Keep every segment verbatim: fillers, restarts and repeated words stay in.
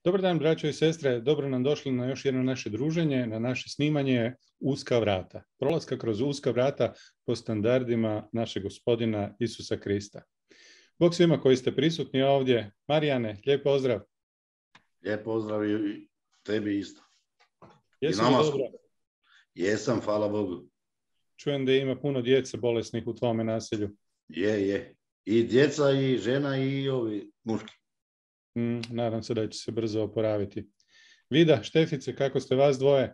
Dobar dan, braćo i sestre. Dobro nam došli na još jedno naše druženje, na naše snimanje Uska vrata. Prolaska kroz uska vrata po standardima našeg Gospodina Isusa Krista. Bog svima koji ste prisutni ovdje. Marijane, lijep pozdrav. Lijep pozdrav i tebi isto. Jesi li dobro? Jesam, hvala Bogu. Čujem da ima puno djece bolesnih u tvome naselju. Je, je. I djeca, i žena, i ovi muški. Mm, nadam se da će se brzo oporaviti. Vida, Štefice, kako ste vas dvoje?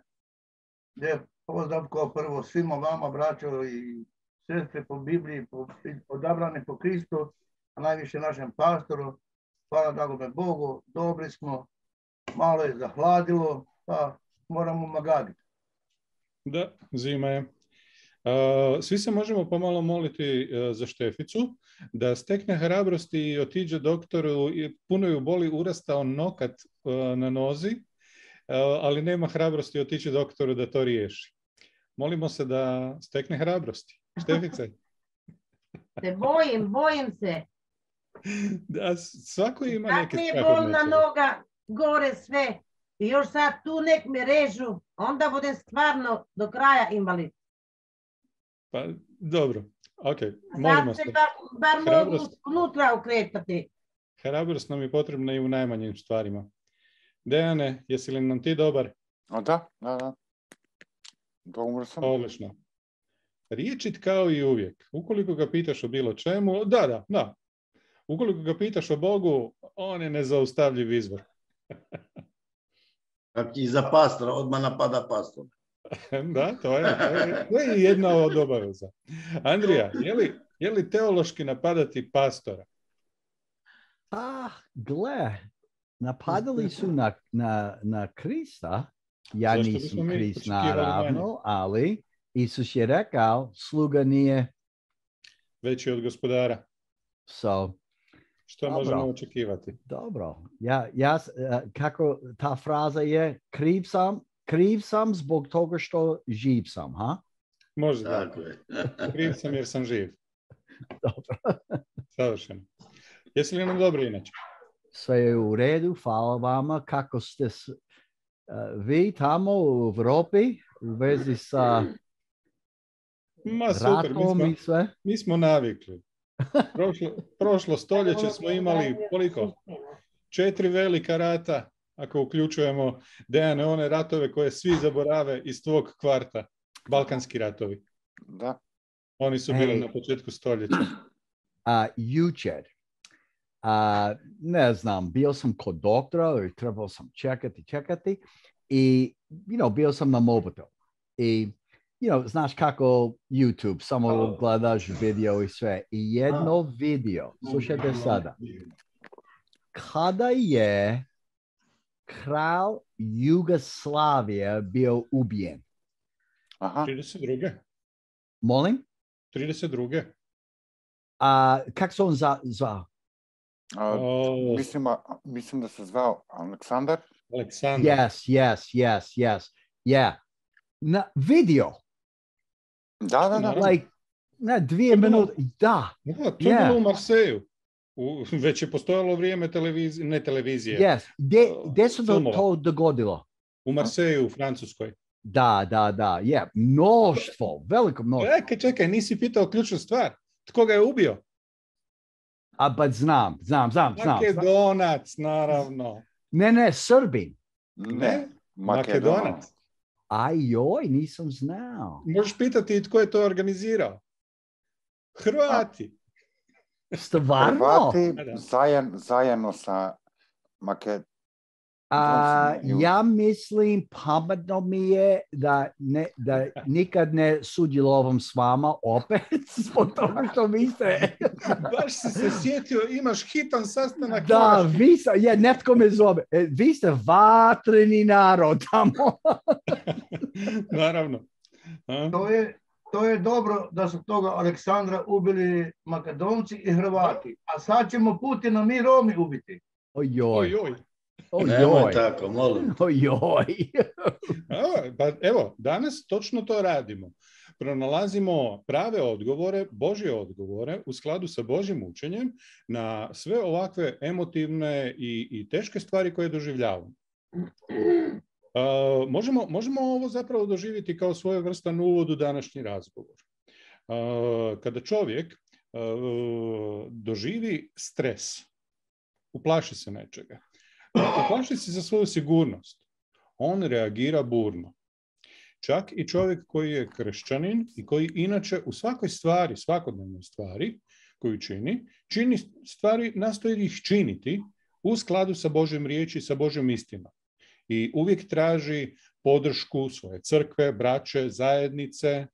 Lijep pozdrav kao prvo svima vama, braćo i sestre po Bibliji, po, odabrani po Kristu, a najviše našem pastoru. Hvala dragome Bogu, dobri smo, malo je zahladilo, pa moramo magaditi. Da, zima je. Uh, svi se možemo pomalo moliti uh, za Šteficu, da stekne hrabrosti i otiđe doktoru, i puno ju boli urastao nokat uh, na nozi, uh, ali nema hrabrosti otići doktoru da to riješi. Molimo se da stekne hrabrosti. Štefice? Se bojim, bojim se. Da, svako ima Kad neke mi je strah od bolna nečega. noga, gore sve, i još sad tu nek me režu, onda budem stvarno do kraja invalid. Pa, dobro, ok, molimo Sad se. se bar, bar mogu Hrabrost. unutra ukretati. Hrabrost nam je potrebna i u najmanjim stvarima. Dejane, jesi li nam ti dobar? A da, da, da. Dobro sam. Odlično. Riječit kao i uvijek. Ukoliko ga pitaš o bilo čemu, da, da, da. Ukoliko ga pitaš o Bogu, on je nezaustavljiv izvor. Kak i za pastora, odmah napada pastora. Da, to je, to je, to je jedna od obaveza. Andrija, je li, je li teološki napadati pastora? Ah, gle, napadali su na, na, na Krista. Ja Zašto nisam bismo mi Krist očekivali naravno, manje? ali Isus je rekao, sluga nije. Veći od gospodara. So, Što Dobro. možemo očekivati? dobro. Ja, ja, uh, kako ta fraza je, kriv sam, kriv sam zbog toga što živ sam, ha? Može da. Tako je. Kriv sam jer sam živ. Dobro. Savršeno. Jesi li nam dobro inače? Sve je u redu, hvala vama. Kako ste s, uh, vi tamo u Europi u vezi sa Ma super, mi ratom smo, i sve? mi smo navikli. Prošlo, prošlo stoljeće smo imali koliko? Četiri velika rata, ako uključujemo Dejane one ratove koje svi zaborave iz tvog kvarta. Balkanski ratovi. Da. Oni su bili Ej. na početku stoljeća. A, jučer, a, ne znam, bio sam kod doktora i trebao sam čekati, čekati i, you know, bio sam na mobitel. I, you know, znaš kako YouTube, samo gledaš video i sve. I jedno video, slušajte sada, kada je kralj Jugoslavije bio ubijen. Aha. trideset druge. Molim? trideset druge. A, kak se on za, zvao? A, O, mislim, a- mislim da se zvao Aleksandar. Aleksandar. Yes, yes, yes, yes. Yeah. Na video. Da, da, da. Like, ne, dvije To je bilo- minute. Da. Da, to je Yeah. bilo u Marseju. U, već je postojalo vrijeme televizije, ne televizije, Yes. Gdje, gdje se to, Filmova. to dogodilo? u Marseju, u Francuskoj. Da, da, da. Yeah. Mnoštvo. Veliko mnoštvo. Čekaj, čekaj, nisi pitao ključnu stvar. Tko ga je ubio? A, but znam, znam, znam, znam. Makedonac, naravno. Ne, ne, Srbin. Ne, Makedonac. Makedonac. Ajoj, nisam znao. Možeš pitati i tko je to organizirao. Hrvati. Stvarno? Hrvati Da, da. zajedno, zajedno sa Makedonijom. A, ja mislim, pametno mi je da, ne, da nikad ne sudjelovam s vama opet, zbog toga što vi ste... Baš si se sjetio, imaš hitan sastanak. Da, moraš- vi ste, je, netko me zove, e, vi ste vatreni narod tamo. Naravno. A? To je, to je dobro da su toga Aleksandra ubili Makedonci i Hrvati, a sad ćemo Putina mi Romi ubiti. Ojoj, Oj, oj. Nemoj ojoj, tako, molim. ojoj. A, pa evo, danas točno to radimo. pronalazimo prave odgovore, Božje odgovore u skladu sa Božjim učenjem na sve ovakve emotivne i, i teške stvari koje doživljavamo. Uh, možemo, možemo ovo zapravo doživjeti kao svojevrstan uvod u današnji razgovor. Uh, kada čovjek uh, doživi stres, uplaši se nečega, uplaši se za svoju sigurnost, on reagira burno. Čak i čovjek koji je kršćanin i koji inače u svakoj stvari, svakodnevnoj stvari koju čini, čini stvari, nastoji ih činiti u skladu sa Božjom riječi, sa Božjom istinom. I uvijek traži podršku svoje crkve, braće, zajednice,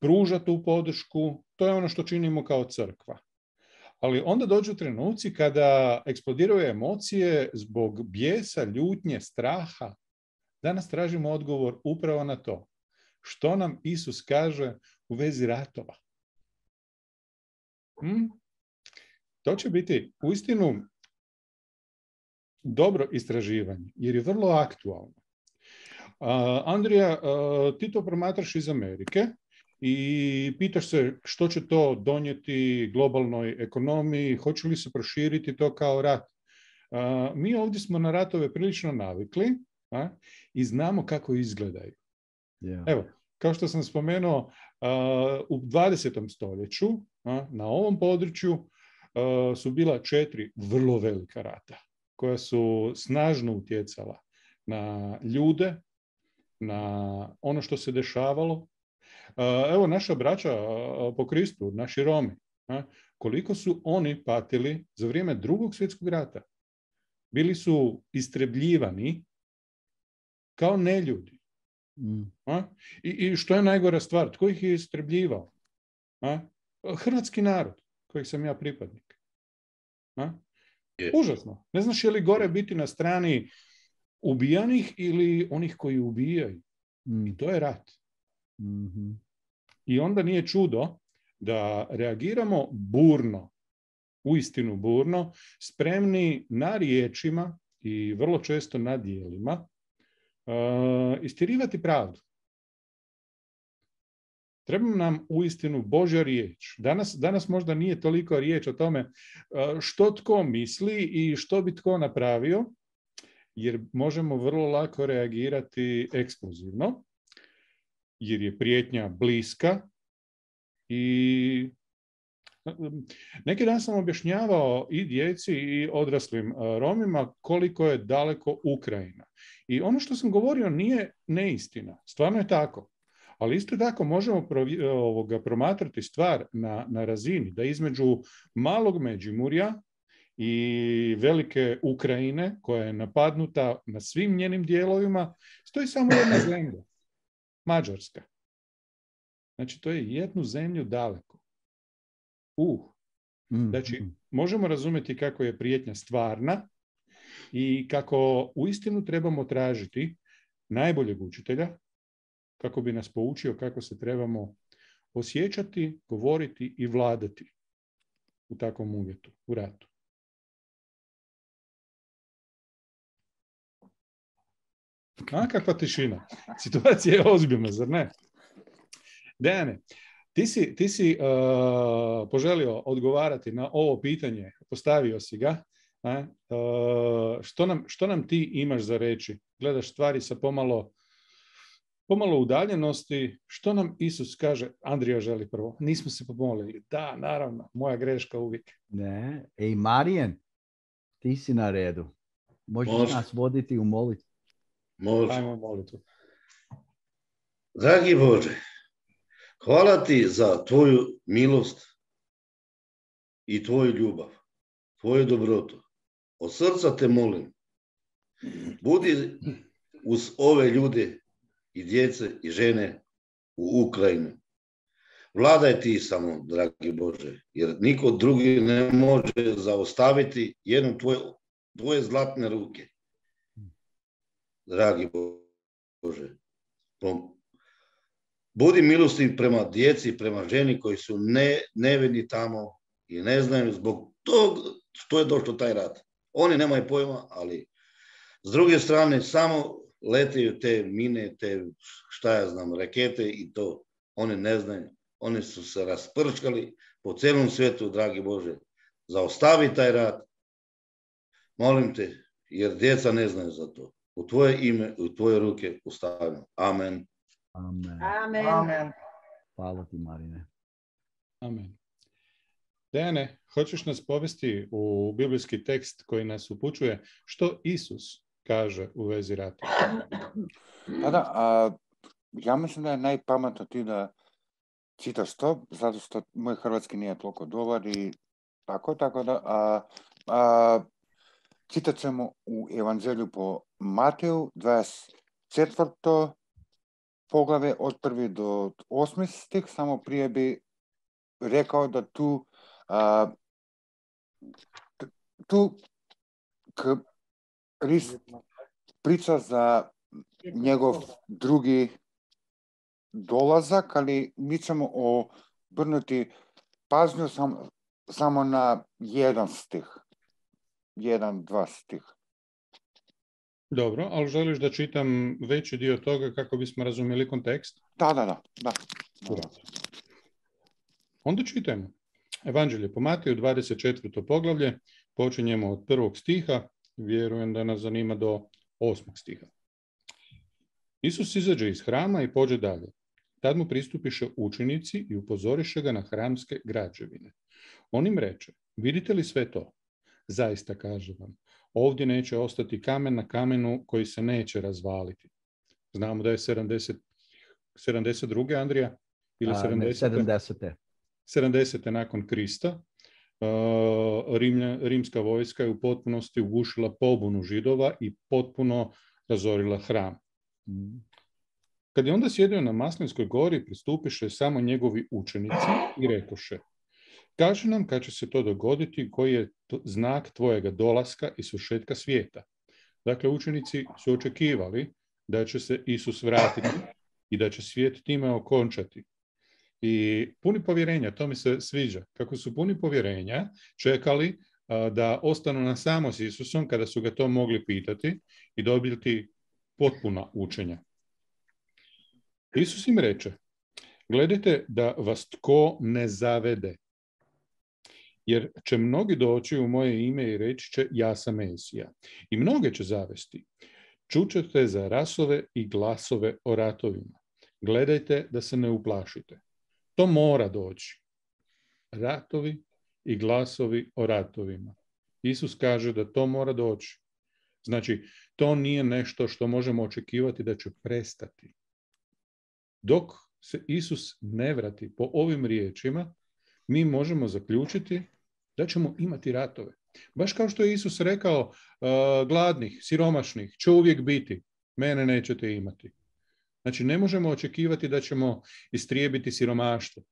pruža tu podršku, to je ono što činimo kao crkva. Ali onda dođu trenuci kada eksplodiraju emocije zbog bijesa, ljutnje, straha. Danas tražimo odgovor upravo na to. Što nam Isus kaže u vezi ratova? Hmm? To će biti uistinu dobro istraživanje, jer je vrlo aktualno. Uh, Andrija, uh, ti to promatraš iz Amerike i pitaš se što će to donijeti globalnoj ekonomiji, hoće li se proširiti to kao rat. Uh, mi ovdje smo na ratove prilično navikli a, i znamo kako izgledaju. Yeah. Evo, kao što sam spomenuo, uh, u dvadesetom stoljeću a, na ovom području uh, su bila četiri vrlo velika rata koja su snažno utjecala na ljude, na ono što se dešavalo. Evo naša braća po Kristu, naši Romi, koliko su oni patili za vrijeme Drugog svjetskog rata. Bili su istrebljivani kao neljudi. Mm. I, I što je najgora stvar? Tko ih je istrebljivao? Hrvatski narod, kojeg sam ja pripadnik. A? Užasno. Ne znaš je li gore biti na strani ubijanih ili onih koji ubijaju. Mm. I to je rat. Mm-hmm. I onda nije čudo da reagiramo burno, uistinu burno, spremni na riječima i vrlo često na djelima uh, istjerivati pravdu. Treba nam uistinu Božja riječ. Danas, danas možda nije toliko riječ o tome što tko misli i što bi tko napravio, jer možemo vrlo lako reagirati eksplozivno, jer je prijetnja bliska. I neki dan sam objašnjavao i djeci i odraslim Romima koliko je daleko Ukrajina. I ono što sam govorio nije neistina. Stvarno je tako. Ali isto tako možemo ovoga, promatrati stvar na, na razini da između malog Međimurja i velike Ukrajine, koja je napadnuta na svim njenim dijelovima, stoji samo jedna zemlja, Mađarska. Znači, to je jednu zemlju daleko. Uh. Znači, možemo razumjeti kako je prijetnja stvarna i kako uistinu trebamo tražiti najboljeg učitelja, kako bi nas poučio kako se trebamo osjećati, govoriti i vladati u takvom uvjetu, u ratu. A, kakva tišina. Situacija je ozbiljna, zar ne? Dejane, ti si, ti si uh, poželio odgovarati na ovo pitanje, postavio si ga. A, uh, što, nam, što nam ti imaš za reći? Gledaš stvari sa pomalo pomalo udaljenosti. Što nam Isus kaže? Andrija želi prvo. Nismo se pomolili. Da, naravno. Moja greška uvijek. Ne. Ej, Marijan, ti si na redu. Možeš Može. nas voditi u molitvu. Može. Ajmo molitvu. Dragi Bože, hvala ti za tvoju milost i tvoju ljubav, tvoju dobrotu. Od srca te molim. Budi uz ove ljude i djece i žene u Ukrajinu. Vladaj ti samo, dragi Bože, jer niko drugi ne može zaustaviti jednu tvoje, tvoje zlatne ruke. Dragi Bože, budi milostiv prema djeci, prema ženi koji su ne, nevini tamo i ne znaju zbog tog što je došlo taj rat. Oni nemaju pojma, ali s druge strane samo leteju te mine, te šta ja znam, rakete i to. oni ne znaju. Oni su se rasprčkali po celom svetu, dragi Bože. Zaostavi taj rat. Molim te, jer djeca ne znaju za to. U tvoje ime, u tvoje ruke ustavljam. Amen. Amen. Amen. Amen. Hvala ti, Marine. Amen. Dejane, hoćeš nas povesti u biblijski tekst koji nas upućuje što Isus kaže u vezi rata? Pa da, a, ja mislim da je najpametno ti da čitaš to, zato što moj hrvatski nije toliko dobar i tako, tako da a, a, čitat ćemo u Evanđelju po Mateju, dvadeset četvrto poglave od prvi do osmi stih, samo prije bi rekao da tu a, tu Krist priča za njegov drugi dolazak, ali mi ćemo obrnuti pažnju sam, samo na jedan stih. Jedan, dva stih. Dobro, ali želiš da čitam veći dio toga kako bismo razumjeli kontekst? Da, da, da. da. da. Onda čitajmo. Evanđelje po Mateju, dvadeset četvrto poglavlje, počinjemo od prvog stiha, vjerujem da nas zanima do osmog stiha. Isus izađe iz hrama i pođe dalje. Tad mu pristupiše učenici i upozoriše ga na hramske građevine. On im reče, vidite li sve to? Zaista kažem vam, ovdje neće ostati kamen na kamenu koji se neće razvaliti. Znamo da je sedamdeset, sedamdeset druge Andrija? Ili sedamdesete? sedamdesete. sedamdesete nakon Krista. Rimlja, rimska vojska je u potpunosti ugušila pobunu Židova i potpuno razorila hram. Kad je onda sjedio na Maslinskoj gori, pristupiše samo njegovi učenici i rekoše, kaži nam kad će se to dogoditi, koji je to znak tvojega dolaska i svršetka svijeta. Dakle, učenici su očekivali da će se Isus vratiti i da će svijet time okončati. I puni povjerenja, to mi se sviđa, kako su puni povjerenja čekali a, da ostanu na samo s Isusom kada su ga to mogli pitati i dobiti potpuna učenja. Isus im reče, gledajte da vas tko ne zavede, jer će mnogi doći u moje ime i reći će ja sam Mesija. I mnoge će zavesti. Čućete za rasove i glasove o ratovima. Gledajte da se ne uplašite. To mora doći. Ratovi i glasovi o ratovima. Isus kaže da to mora doći. Znači, to nije nešto što možemo očekivati da će prestati. Dok se Isus ne vrati po ovim riječima, mi možemo zaključiti da ćemo imati ratove. Baš kao što je Isus rekao, uh, gladnih, siromašnih će uvijek biti, mene nećete imati. Znači, ne možemo očekivati da ćemo istrijebiti siromaštvo.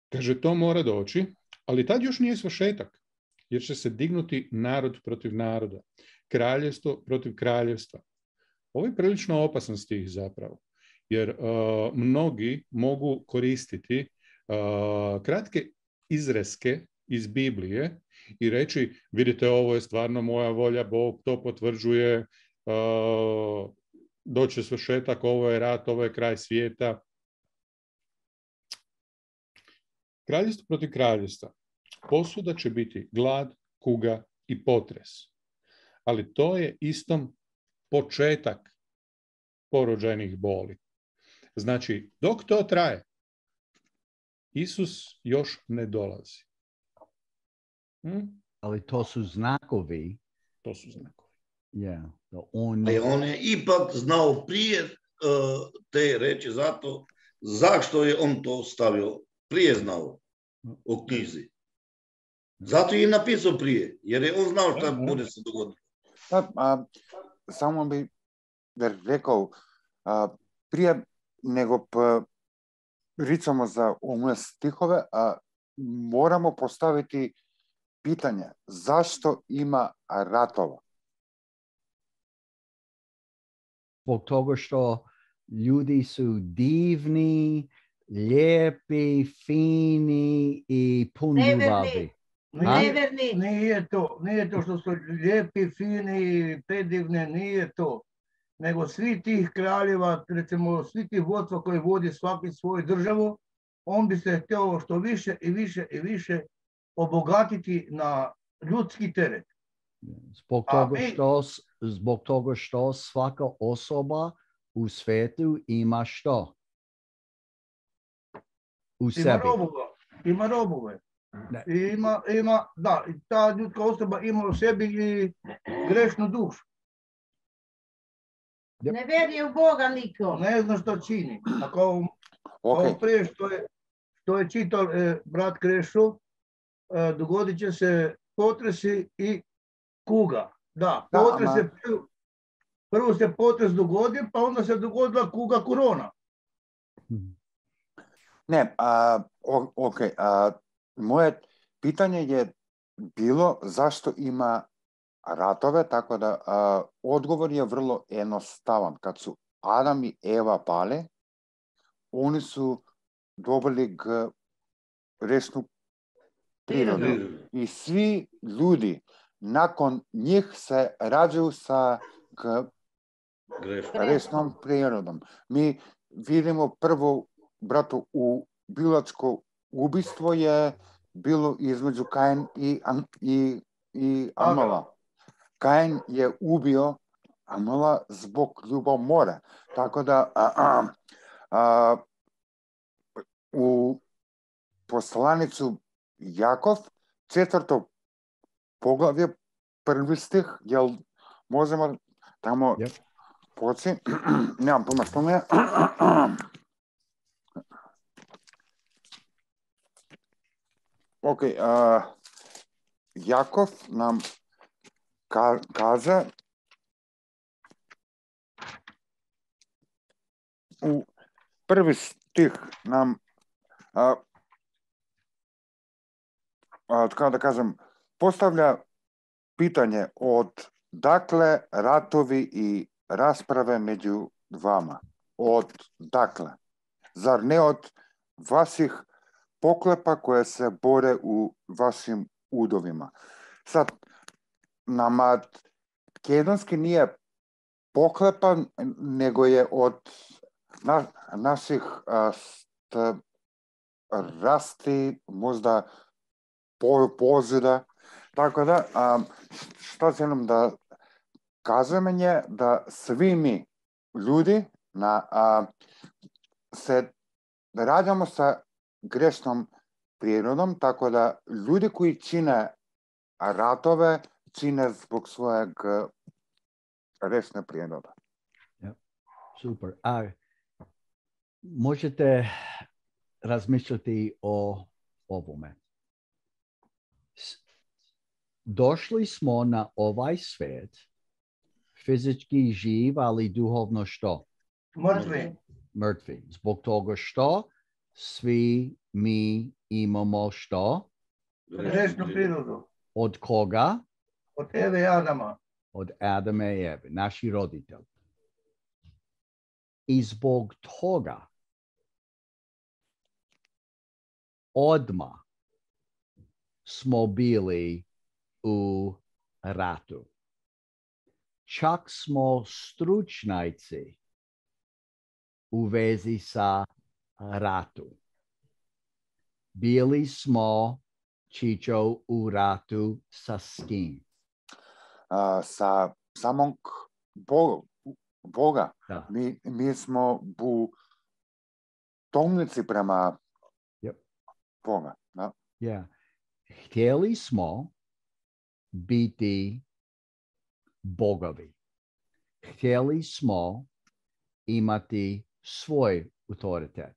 Kaže, to mora doći, ali tad još nije svršetak, jer će se dignuti narod protiv naroda, kraljevstvo protiv kraljevstva. Ovo je prilično opasan stih zapravo, jer uh, mnogi mogu koristiti uh, kratke izreske iz Biblije i reći, vidite, ovo je stvarno moja volja, Bog to potvrđuje, uh, doće svršetak, ovo je rat, ovo je kraj svijeta. Kraljevstvo protiv kraljevstva. Posuda će biti glad, kuga i potres. Ali to je istom početak porođajnih boli. Znači, dok to traje, Isus još ne dolazi. Hm? Ali to su znakovi. To su znakovi. Yeah, da on... Ali on je ipak znao prije uh, te reči, zato zašto je on to stavio, prije znao u knjizi. Zato je napisao prije, jer je on znao šta bude se dogoditi. Da, a, samo bi rekao, a, prije nego pa, pričamo za ove stihove, a, moramo postaviti pitanje, zašto ima ratova? Zbog toga što ljudi su divni, lijepi, fini i puni ljubavi. Neverni. Nije to, nije to što su lijepi, fini, predivne, nije to. nego svi tih kraljeva, recimo svi tih vodstva koji vodi svaki svoju državu, on bi se htio što više i više i više obogatiti na ljudski teret. Zbog toga, mi, što, zbog toga što svaka osoba u svijetu ima što? U ima sebi. Robova, ima robove. Ima, ima, da, ta ljudska osoba ima u sebi i grešnu dušu. Yep. Ne vjeruje u Boga niko. Ne zna što čini. A kao, okay. kao prije što je, što je čitao e, brat Krešo, e, dogodit će se potresi i kuga. Da, potres da, je, prvo, prvo se potres dogodi, pa onda se dogodila kuga korona. Ne, a, ok, a, moje pitanje je bilo zašto ima ratove, tako da a, odgovor je vrlo jednostavan. Kad su Adam i Eva pale, oni su dobili g resnu prirodu. I svi ljudi nakon njih se rađaju sa g resnom prirodom. Mi vidimo prvo, brato, u biološko ubistvo je bilo između Kain i, i, i Amala. Kain je ubio Amala zbog ljubomore. Tako da a, a, a, u poslanicu Jakov, četvrto poglavlje, prvi stih, jel možemo tamo yep. poći? Nemam pojma što mi je. Ok, uh, Jakov nam ka kaže u prvi stih nam uh, uh, kako da kažem, postavlja pitanje od dakle ratovi i rasprave među vama. Od dakle. Zar ne od vaših poklepa koje se bore u vašim udovima? Sad, nama makedonski nije poklepa, nego je od na, naših rasti, možda po, pozida. Tako da, a, što želim da kažem je da svi mi ljudi na, a, se rađamo sa grešnom prirodom, tako da ljudi koji čine ratove, čine zbog svojeg grešne prirode. Ja, super. A možete razmišljati o ovome. Došli smo na ovaj svijet fizički živ, ali duhovno što? Mrtvi. Mrtvi. Zbog toga što svi mi imamo što? Grešnu prirodu. Od koga? Od Eve i Adama. Od Adama i Eve, naši roditelji. I zbog toga odmah smo bili u ratu. Čak smo stručnjaci u vezi sa ratu. Bili smo, Čičo, u ratu sa kim? Uh, sa samog Boga. Boga. Da. Mi, mi smo u tomnici prema yep. Boga. Da? Yeah. Htjeli smo biti bogovi. Htjeli smo imati svoj autoritet.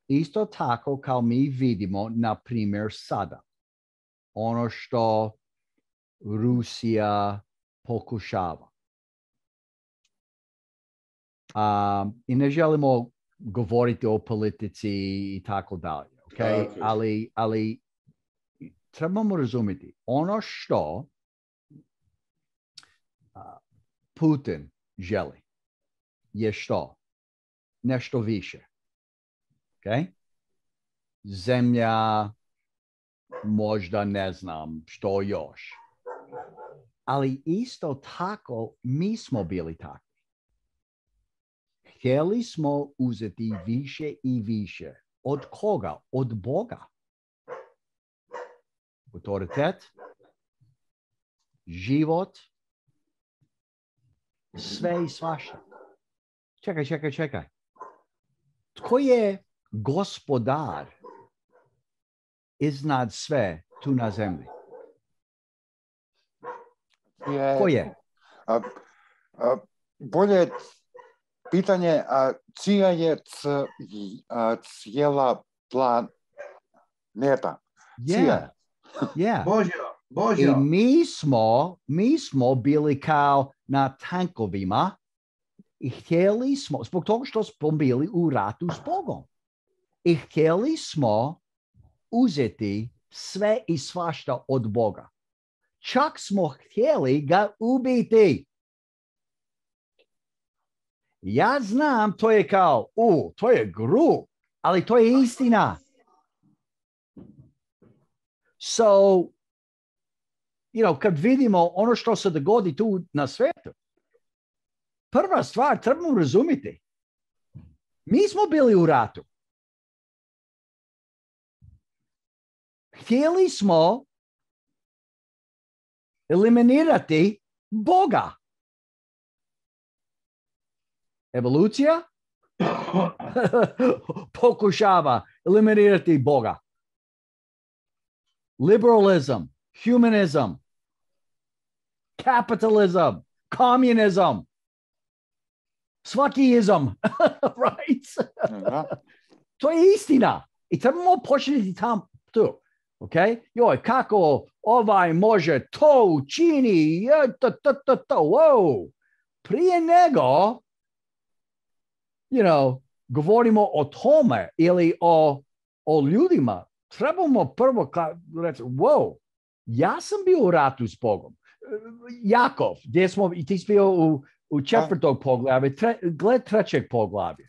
Isto tako kao mi vidimo, na primjer, sada. Ono što Rusija pokušava. Um, I ne želimo govoriti o politici i tako dalje. Okay? Okay. Ali, ali trebamo razumjeti ono što uh, Putin želi je što? Nešto više. Okay? Zemlja, možda ne znam što još. ali isto tako mi smo bili takvi. Htjeli smo uzeti više i više. Od koga? Od Boga. Autoritet, život, sve i svašta. Čekaj, čekaj, čekaj. Tko je gospodar iznad sve tu na zemlji? Je, Ko je? A, a, bolje pitanje, a čija je c, a, cijela planeta? Yeah. Yeah. Božja, I Božja. mi smo, mi smo bili kao na tankovima i htjeli smo, zbog toga što smo bili u ratu s Bogom. I htjeli smo uzeti sve i svašta od Boga. Čak smo htjeli ga ubiti. Ja znam, to je kao, u, to je gru, ali to je istina. So, you know, kad vidimo ono što se dogodi tu na svijetu, prva stvar trebamo razumjeti. Mi smo bili u ratu. Htjeli smo eliminirati Boga. Evolucija pokušava eliminirati Boga. Liberalism, humanism, capitalism, communism, svaki izam, right? To je istina. I trebamo početi tam tu. Okay? Joj, kako ovaj može to učini, to, to, to, to, wow. Prije nego, you know, govorimo o tome ili o, o ljudima, trebamo prvo reći, wow, ja sam bio u ratu s Bogom. Jakov, gdje smo, i ti si bio u, u četvrtog poglavlja, tre, gled trećeg poglavlja.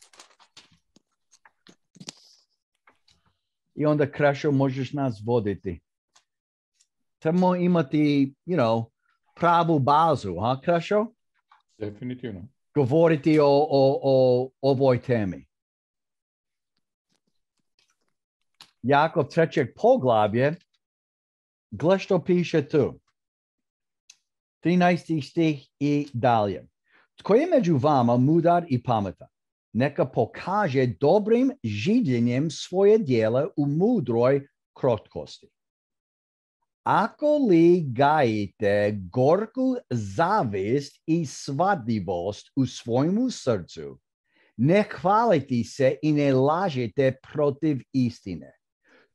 I onda, Krešo, možeš nas voditi. Trebamo imati, you know, pravu bazu, ha, Krešo? Definitivno. Govoriti o, o, o ovoj temi. Jakov trećeg poglavlje, gle što piše tu. trinaesti stih i dalje. Tko je među vama mudar i pametan? Neka pokaže dobrim življenjem svoje djela u mudroj krotkosti. Ako li gajite gorku zavist i svadljivost u svojemu srcu, ne hvalite se i ne lažete protiv istine.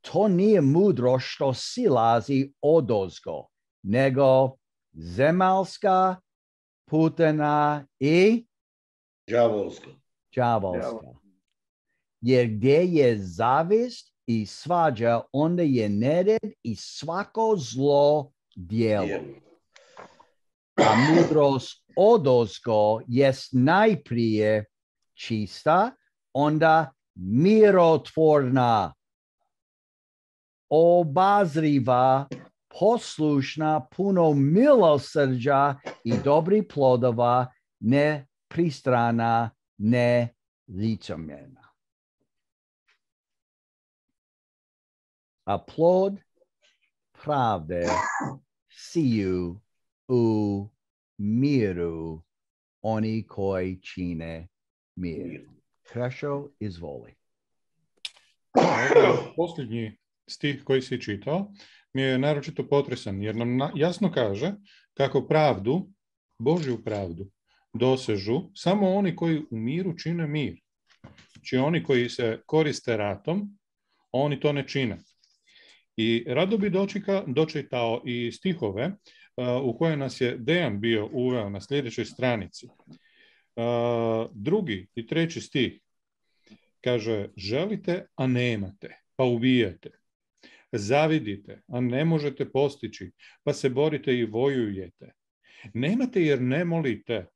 To nije mudro što silazi odozgo, nego zemaljska, putana i đavolska. đavolska. Jer gdje je zavist i svađa, onda je nered i svako zlo djelo. A mudrost odozgo jest najprije čista, onda mirotvorna, obazriva, poslušna, puno milosrđa i dobrih plodova, ne pristrana, ne licemjerna. A plod pravde siju u miru oni koji čine mir. Krešo, izvoli. Posljednji stih koji si čitao mi je naročito potresan, jer nam jasno kaže kako pravdu, Božju pravdu, dosežu samo oni koji u miru čine mir. Znači oni koji se koriste ratom, oni to ne čine. I rado bi dočeka, dočitao i stihove uh, u koje nas je Dejan bio uveo na sljedećoj stranici. Uh, drugi i treći stih kaže: želite, a nemate, pa ubijate. Zavidite, a ne možete postići, pa se borite i vojujete. Nemate jer ne molite.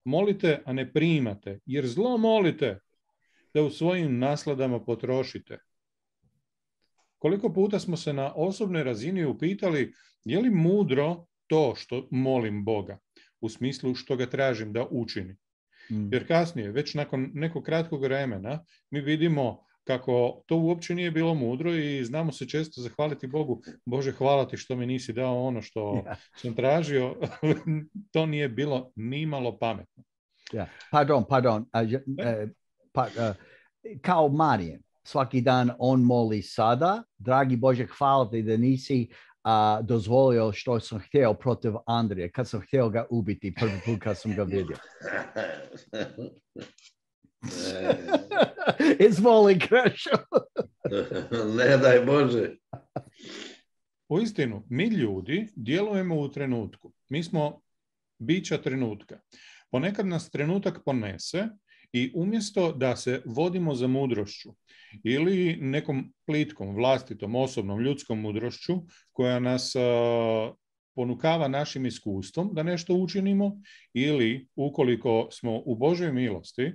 Molite, a ne primate, jer zlo molite, da u svojim nasladama potrošite. Koliko puta smo se na osobnoj razini upitali je li mudro to što molim Boga, u smislu što ga tražim da učini. Mm. Jer kasnije, već nakon nekog kratkog vremena, mi vidimo kako to uopće nije bilo mudro i znamo se često zahvaliti Bogu. Bože, hvala ti što mi nisi dao ono što Yeah. sam tražio. To nije bilo ni malo pametno. Yeah. Pardon, pardon. Uh, uh, pa, uh, kao Marijan, svaki dan on moli sada, dragi Bože, hvala ti da nisi uh, dozvolio što sam htio protiv Andrija, kad sam htio ga ubiti prvi put kad sam ga vidio. Izvoli, Krešo. Ne daj Bože. Uistinu, mi ljudi djelujemo u trenutku. Mi smo bića trenutka. Ponekad nas trenutak ponese i umjesto da se vodimo za mudrošću ili nekom plitkom, vlastitom, osobnom, ljudskom mudrošću koja nas uh, ponukava našim iskustvom da nešto učinimo ili ukoliko smo u Božoj milosti,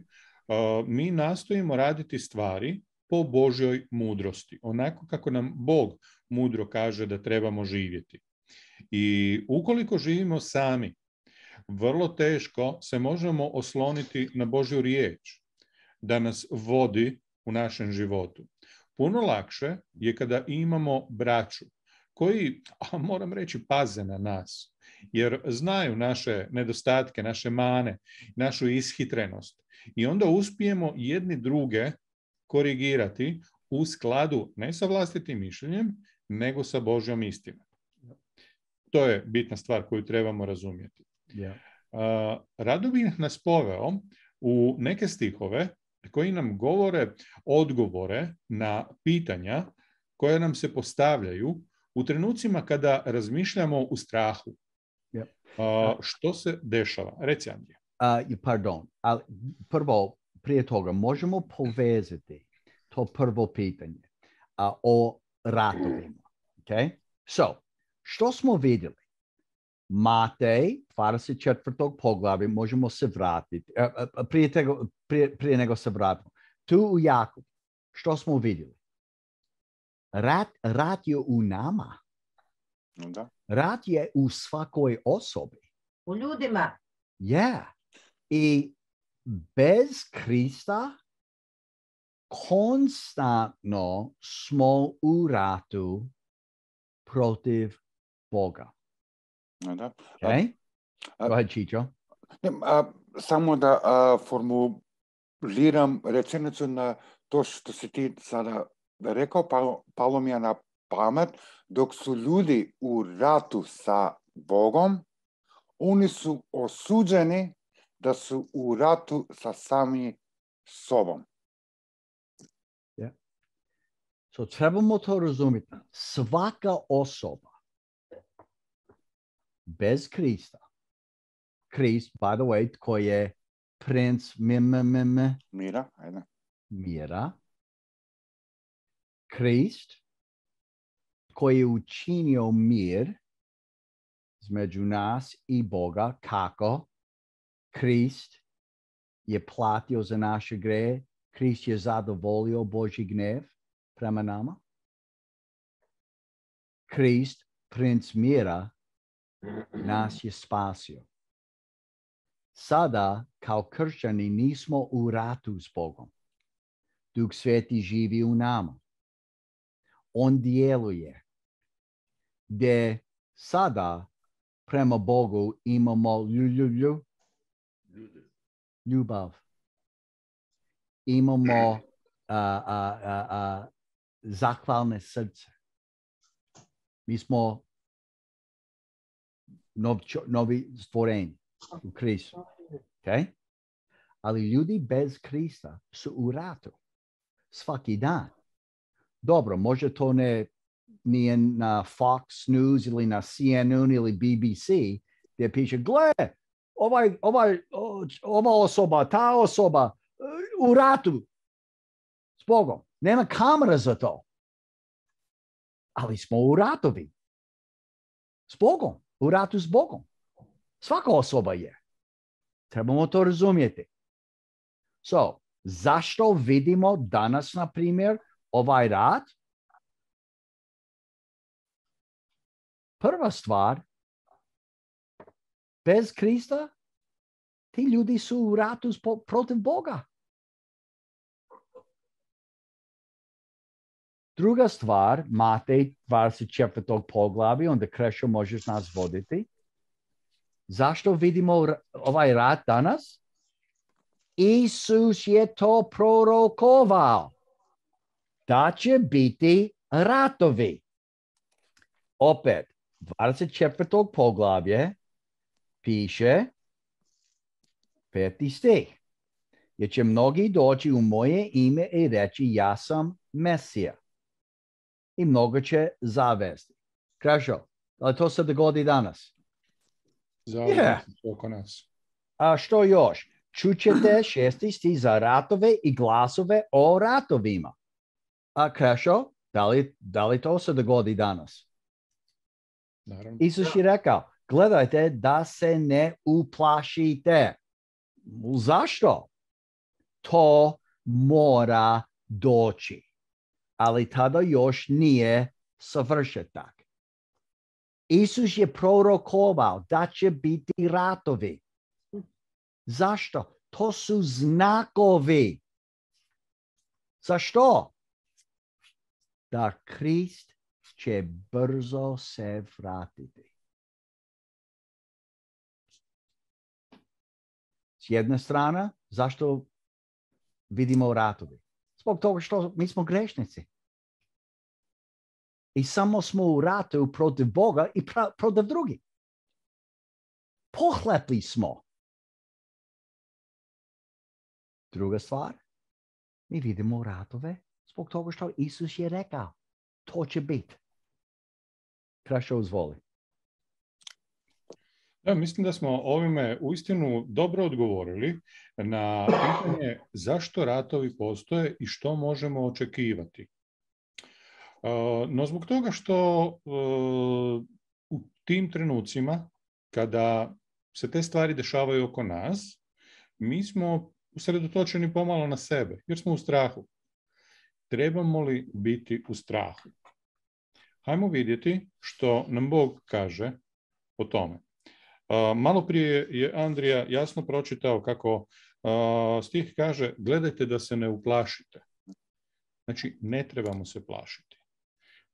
uh, mi nastojimo raditi stvari po Božjoj mudrosti, onako kako nam Bog mudro kaže da trebamo živjeti. I ukoliko živimo sami, vrlo teško se možemo osloniti na Božju riječ da nas vodi u našem životu. Puno lakše je kada imamo braću koji, a moram reći, paze na nas, jer znaju naše nedostatke, naše mane, našu ishitrenost. I onda uspijemo jedni druge korigirati u skladu ne sa vlastitim mišljenjem, nego sa Božjom istinom. To je bitna stvar koju trebamo razumjeti. Yeah. Uh, rado bih nas poveo u neke stihove koji nam govore odgovore na pitanja koje nam se postavljaju u trenucima kada razmišljamo u strahu. Yeah. Uh, što se dešava? Reci, Andrija. Uh, pardon, ali prvo, prije toga, možemo povezati to prvo pitanje uh, o ratovima. Okay? So, što smo vidjeli? Matej, dvadeset četvrto poglavlje, možemo se vratiti. Uh, prije, tego, prije, prije nego se vratimo. Tu u Jakub, što smo vidjeli? Rat, rat je u nama. Da. Rat je u svakoj osobi. U ljudima. Yeah. I bez Krista konstantno smo u ratu protiv Boga. Da. Okay? A, Go ahead, Chicho. Ne, a, samo da a, formuliram rečenicu na to što si ti sada rekao, palo, palo mi je na pamet, dok su ljudi u ratu sa Bogom, oni su osuđeni da su u ratu sa sami sobom. Yeah. So trebamo to razumjeti. Svaka osoba bez Krista, Krist, by the way, tko je princ mim, mim, Mira, ajde. mira, Krist, koji je učinio mir između nas i Boga, kako? Krist je platio za naše grehe, Krist je zadovoljio Božji gnev prema nama. Krist, princ mira, nas je spasio. Sada, kao kršćani, nismo u ratu s Bogom. Duh Sveti živi u nama. On djeluje. Gdje sada prema Bogu imamo lju, ljubav. Imamo uh, uh, uh, uh, zahvalne srce. Mi smo nov, novi stvorenji u Kristu. Okay? Ali ljudi bez Krista su u ratu svaki dan. Dobro, može to ne nije na Fox News ili na C N N ili B B C gdje piše, gle, ovaj, ovaj, ova osoba, ta osoba u ratu s Bogom. Nema kamera za to. Ali smo u ratovi. S Bogom. U ratu s Bogom. Svaka osoba je. Trebamo to razumjeti. So, zašto vidimo danas, na primjer, ovaj rat? Prva stvar, bez Krista, ti ljudi su u ratu protiv Boga. Druga stvar, Matej dvadeset četvrtog poglavlja, onda Krešo možeš nas voditi. Zašto vidimo ovaj rat danas? Isus je to prorokovao. Da će biti ratovi. Opet, dvadeset četvrtog poglavlje piše peti stih. Jer će mnogi doći u moje ime i reći ja sam Mesija. I mnogo će zavesti. Krešo, ali to se dogodi danas? Zavisno Yeah. oko nas. A što još? Čućete šesti stih za ratove i glasove o ratovima. A Krešo, da li, da li to se dogodi danas? Naravno. Isus je rekao, gledajte da se ne uplašite. Zašto? To mora doći. Ali tada još nije savršetak. Isus je prorokovao da će biti ratovi. Zašto? To su znakovi. Zašto? Da Krist će brzo se vratiti. S jedne strane, zašto vidimo ratovi? Zbog toga što mi smo grešnici. I samo smo u ratu protiv Boga i pra- protiv drugih. Pohlepli smo. Druga stvar, mi vidimo ratove zbog toga što Isus je rekao. To će biti. Krešo, izvoli. Ja, mislim da smo ovime uistinu dobro odgovorili na pitanje zašto ratovi postoje i što možemo očekivati. No zbog toga što u tim trenucima kada se te stvari dešavaju oko nas, mi smo usredotočeni pomalo na sebe, jer smo u strahu. Trebamo li biti u strahu? Hajmo vidjeti što nam Bog kaže o tome. Malo prije je Andrija jasno pročitao kako stih kaže gledajte da se ne uplašite. Znači, ne trebamo se plašiti.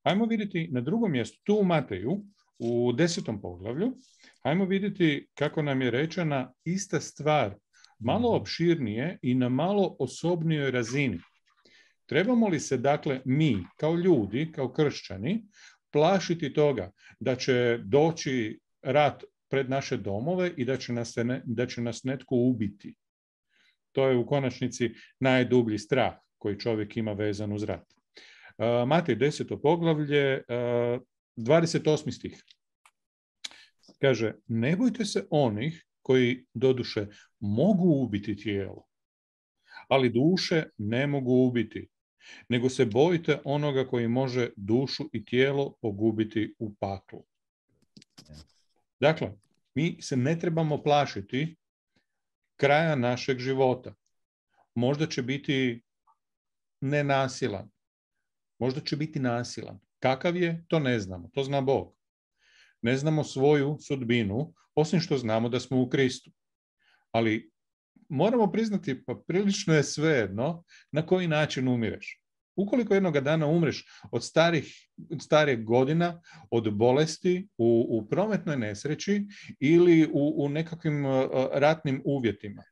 Hajmo vidjeti na drugom mjestu, tu u Mateju, u desetom poglavlju, hajmo vidjeti kako nam je rečena ista stvar, malo opširnije i na malo osobnijoj razini. Trebamo li se, dakle, mi, kao ljudi, kao kršćani, plašiti toga da će doći rat pred naše domove i da će nas, ne, da će nas netko ubiti? To je u konačnici najdublji strah koji čovjek ima vezan uz rat. Uh, Matej deseto poglavlje, uh, dvadeset osmi stih. Kaže, ne bojte se onih koji doduše mogu ubiti tijelo, ali duše ne mogu ubiti, nego se bojite onoga koji može dušu i tijelo pogubiti u paklu. Dakle, mi se ne trebamo plašiti kraja našeg života. Možda će biti nenasilan, možda će biti nasilan. Kakav je, to ne znamo, to zna Bog. Ne znamo svoju sudbinu, osim što znamo da smo u Kristu. Ali moramo priznati, pa prilično je svejedno na koji način umireš. Ukoliko jednoga dana umreš od starih, starih godina, od bolesti, u, u prometnoj nesreći ili u, u nekakvim uh, ratnim uvjetima.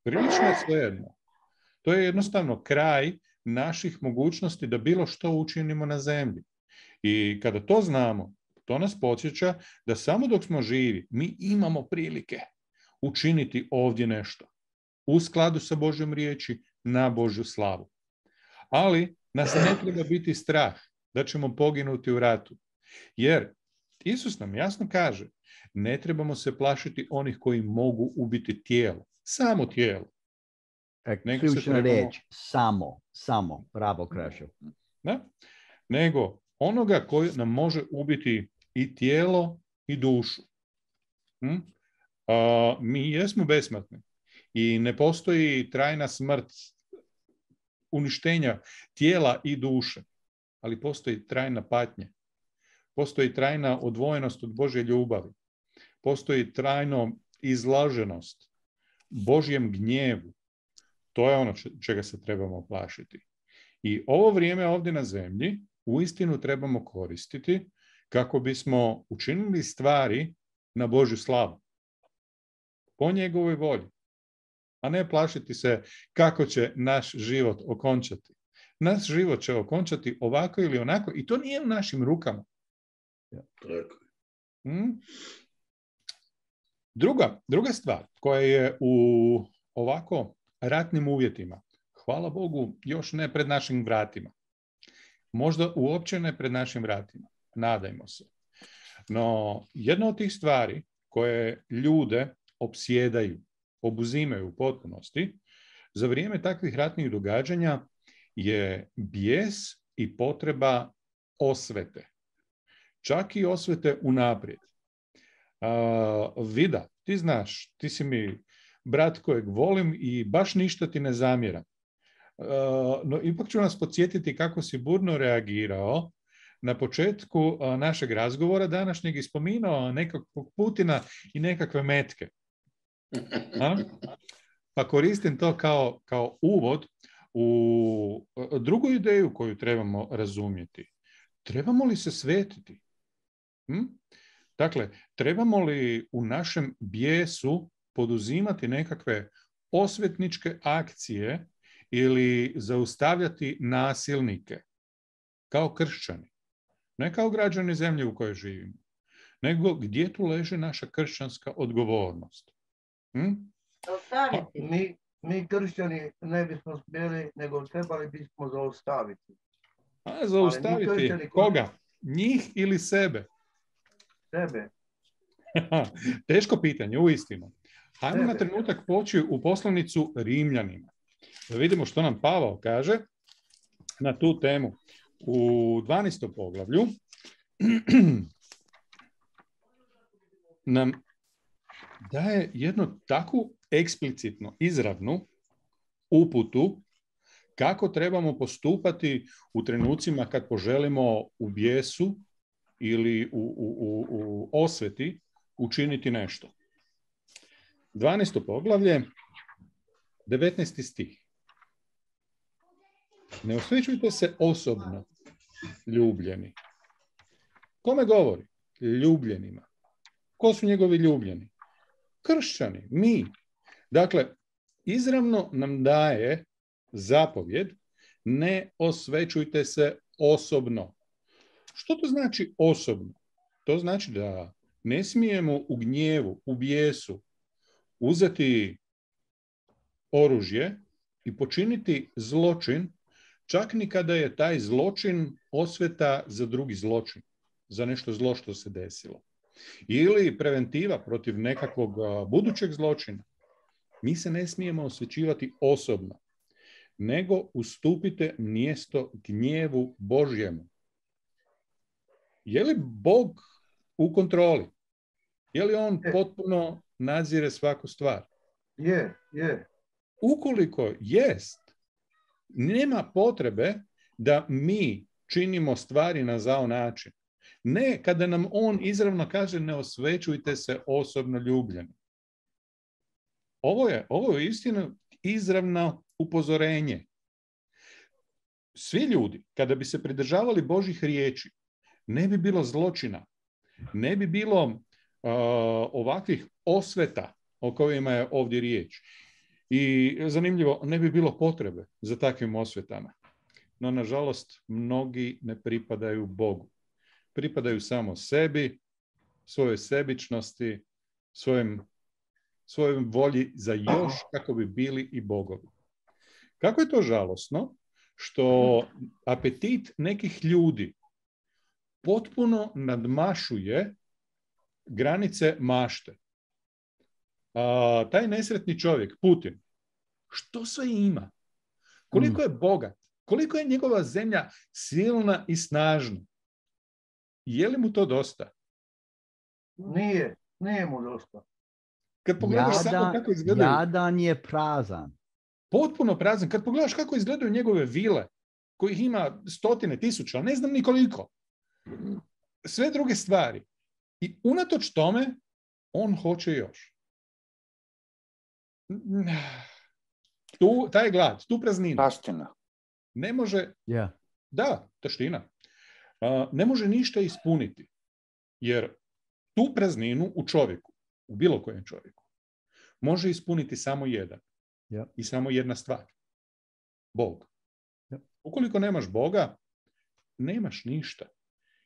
Prilično je svejedno. To je jednostavno kraj naših mogućnosti da bilo što učinimo na zemlji. I kada to znamo, to nas podsjeća da samo dok smo živi, mi imamo prilike učiniti ovdje nešto. U skladu sa Božjom riječi, na Božju slavu. Ali nas ne treba biti strah da ćemo poginuti u ratu. Jer Isus nam jasno kaže, ne trebamo se plašiti onih koji mogu ubiti tijelo. Samo tijelo. Nego ključna trebamo... reč, samo, samo, bravo Krešo. Da? Nego onoga koji nam može ubiti i tijelo i dušu. Hm? A, mi jesmo besmrtni i ne postoji trajna smrt uništenja tijela i duše, ali postoji trajna patnja. Postoji trajna odvojenost od Božje ljubavi. postoji trajno izlaženost Božjem gnjevu. To je ono čega se trebamo plašiti. I ovo vrijeme ovdje na zemlji uistinu trebamo koristiti kako bismo učinili stvari na Božju slavu. Po njegovoj volji. A ne plašiti se kako će naš život okončati. Naš život će okončati ovako ili onako i to nije u našim rukama. Hmm? Druga, druga stvar koja je u ovako ratnim uvjetima, hvala Bogu, još ne pred našim vratima. Možda uopće ne pred našim vratima. Nadajmo se. No, jedna od tih stvari koje ljude opsjedaju, obuzimaju u potpunosti, za vrijeme takvih ratnih događanja je bijes i potreba osvete. Čak i osvete unaprijed. Uh, Vida, ti znaš, ti si mi brat kojeg volim i baš ništa ti ne zamjeram. Uh, no, ipak ću nas podsjetiti kako si burno reagirao na početku uh, našeg razgovora današnjeg i spominao nekakvog Putina i nekakve metke. A? Pa koristim to kao, kao uvod u drugu ideju koju trebamo razumjeti. Trebamo li se svetiti? Hm? Dakle, trebamo li u našem bijesu poduzimati nekakve osvetničke akcije ili zaustavljati nasilnike kao kršćani? Ne kao građani zemlje u kojoj živimo, nego gdje tu leži naša kršćanska odgovornost? Hm? Mi, mi kršćani ne bismo smjeli, nego trebali bismo zaustaviti. A, zaustaviti koga? Njih ili sebe? Sebe. Teško pitanje, uistinu. Hajmo na trenutak poći u poslanicu Rimljanima. Da vidimo što nam Pavao kaže na tu temu. U dvanaestom poglavlju nam daje jednu takvu eksplicitnu, izravnu uputu kako trebamo postupati u trenucima kad poželimo u bijesu ili u, u, u, u osveti učiniti nešto. dvanaesto poglavlje, devetnaesti stih. Ne osvećujte se osobno, ljubljeni. Kome govori? Ljubljenima. Ko su njegovi ljubljeni? Kršćani, mi. Dakle, izravno nam daje zapovjed, ne osvećujte se osobno. Što to znači osobno? To znači da ne smijemo u gnjevu, u bijesu uzeti oružje i počiniti zločin, čak ni kada je taj zločin osveta za drugi zločin, za nešto zlo što se desilo. Ili preventiva protiv nekakvog budućeg zločina. Mi se ne smijemo osvećivati osobno, nego ustupite mjesto gnjevu Božjemu. Je li Bog u kontroli? Je li on potpuno nadzire svaku stvar? Je, je. Ukoliko jest, nema potrebe da mi činimo stvari na zao način. Ne kada nam on izravno kaže ne osvećujte se osobno ljubljeni. Ovo je, ovo je istino izravno upozorenje. Svi ljudi, kada bi se pridržavali Božjih riječi, ne bi bilo zločina, ne bi bilo uh, ovakvih osveta o kojima je ovdje riječ. I zanimljivo, ne bi bilo potrebe za takvim osvetama. No, nažalost, mnogi ne pripadaju Bogu. Pripadaju samo sebi, svojoj sebičnosti, svojim, svojim volji za još kako bi bili i bogovi. Kako je to žalosno što apetit nekih ljudi potpuno nadmašuje granice mašte. A, taj nesretni čovjek, Putin, što sve ima? Koliko je bogat? Koliko je njegova zemlja silna i snažna? Je li mu to dosta? Nije, nije mu dosta. Kad pogledaš jadan, samo kako izgledaju... Jadan je prazan. Potpuno prazan. Kad pogledaš kako izgledaju njegove vile, kojih ima stotine tisuća, ne znam ni koliko. Sve druge stvari. I unatoč tome, on hoće još. Tu, taj glad, tu praznina. Taština. Ne može, Yeah. da, taština, uh, ne može ništa ispuniti. Jer tu prazninu u čovjeku, u bilo kojem čovjeku, može ispuniti samo jedan. Yeah. I samo jedna stvar. Bog. Yeah. Ukoliko nemaš Boga, nemaš ništa.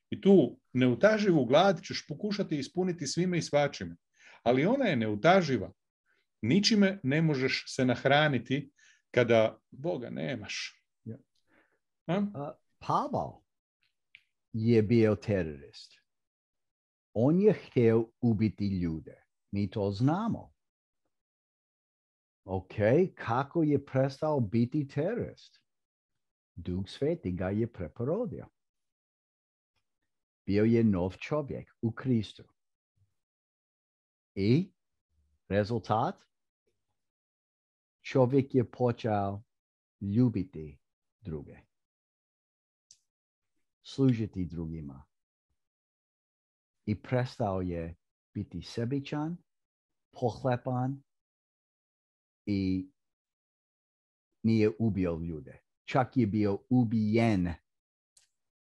I tu neutaživu glad ćeš pokušati ispuniti svime i svačime. Ali ona je neutaživa. Ničime ne možeš se nahraniti kada Boga nemaš. Yeah. A? Uh, Pavel je bio terorist. On je htio ubiti ljude. Mi to znamo. Ok, kako je prestao biti terorist? Duh Sveti ga je preporodio. Bio je nov čovjek u Kristu. I rezultat? Čovjek je počeo ljubiti druge. Služiti drugima. I prestao je biti sebičan, pohlepan i nije ubio ljude. Čak je bio ubijen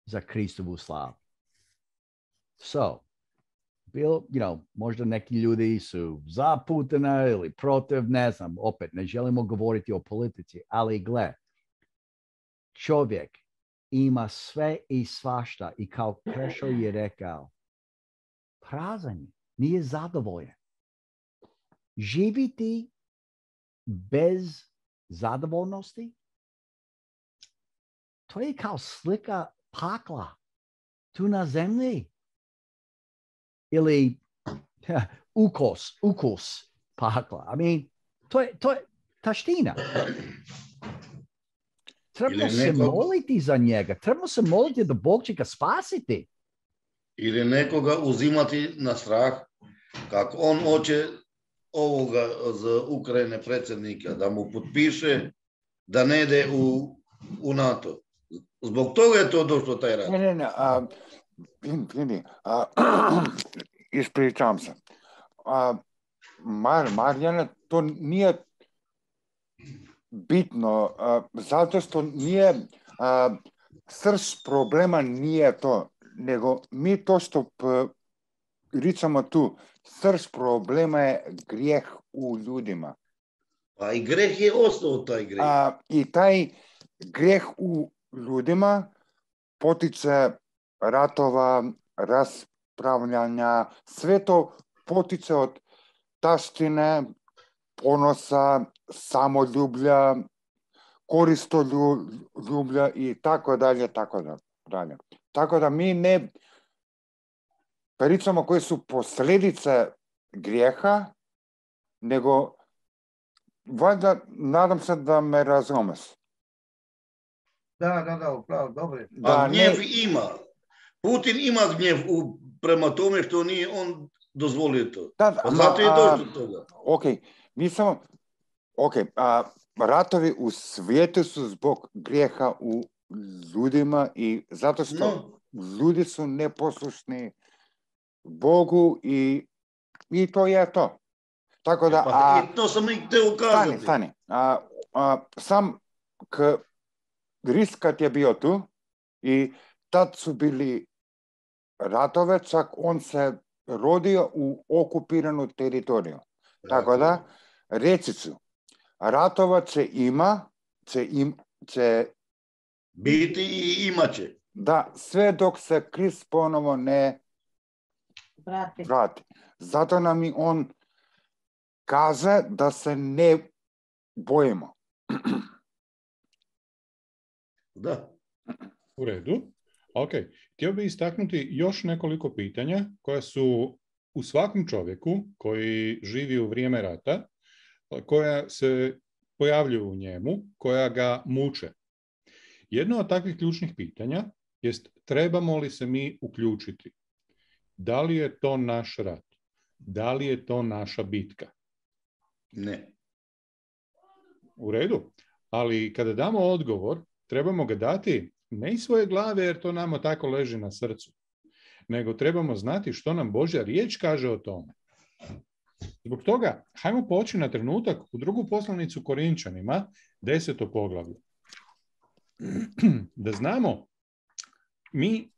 za Kristovu slavu. So, bil, you know, možda neki ljudi su zaputani ili protiv, ne znam, opet ne želimo govoriti o politici, ali gle, čovjek ima sve i svašta i kao Krešo je rekao, prazan, nije zadovoljan. Živiti bez zadovoljnosti, to je kao slika pakla tu na zemlji. Ili ukus, ukus pakla. I mean, to je, to je taština. Trebamo se nekog... moliti za njega. Trebamo se moliti da Bog će ga spasiti. Ili nekoga uzimati na strah, kako on hoće ovoga za Ukrajine predsjednika, da mu potpiše da ne ide u, u NATO. Zbog toga je to došlo taj rat. Ne, ne, ne. A, vidi, a, ispričavam se. A, Mar, Marjana, to nije bitno, a, zato što nije, a, srž problema nije to, nego mi to što pričamo tu, srž problema je grijeh u ljudima. Pa i greh je ostao taj greh. A, I taj grijeh u ljudima potiče ratova, raspravljanja, sve to potiče od taštine, ponosa, samoljublja, koristoljublja i tako dalje, tako dalje. Tako da mi ne pričamo koje su posljedice grijeha, nego valjda, nadam se da me razumeš. Da, da, da, upravo, dobro. A gnjev ne... ima. Putin ima gnjev u, prema tome što nije on dozvolio to. Da, da, zato je došlo do toga. Ok, mi samo, ok, a, ratovi u svijetu su zbog grijeha u ljudima i zato što no. ljudi su neposlušni Bogu i, i to je to. Tako da, pa, a, i to sam i te ukazati. Stani, stani. A, a, sam k riskat je bio tu i tad su bili ratove, čak on se rodio u okupiranu teritoriju. Tako da, reći ću, ratova će ima, će, im, će biti i imat će. Da, sve dok se Krist ponovo ne vrati. vrati. Zato nam i on kaže da se ne bojimo. Da. U redu. Ok. Htio bih istaknuti još nekoliko pitanja koja su u svakom čovjeku koji živi u vrijeme rata, koja se pojavljuju u njemu, koja ga muče. Jedno od takvih ključnih pitanja jest trebamo li se mi uključiti? Da li je to naš rat? Da li je to naša bitka? Ne. U redu. Ali kada damo odgovor, trebamo ga dati ne iz svoje glave jer to nama tako leži na srcu, nego trebamo znati što nam Božja riječ kaže o tome. Zbog toga, hajmo poći na trenutak u drugu poslanicu Korinčanima, deseto poglavlje. Da znamo, mi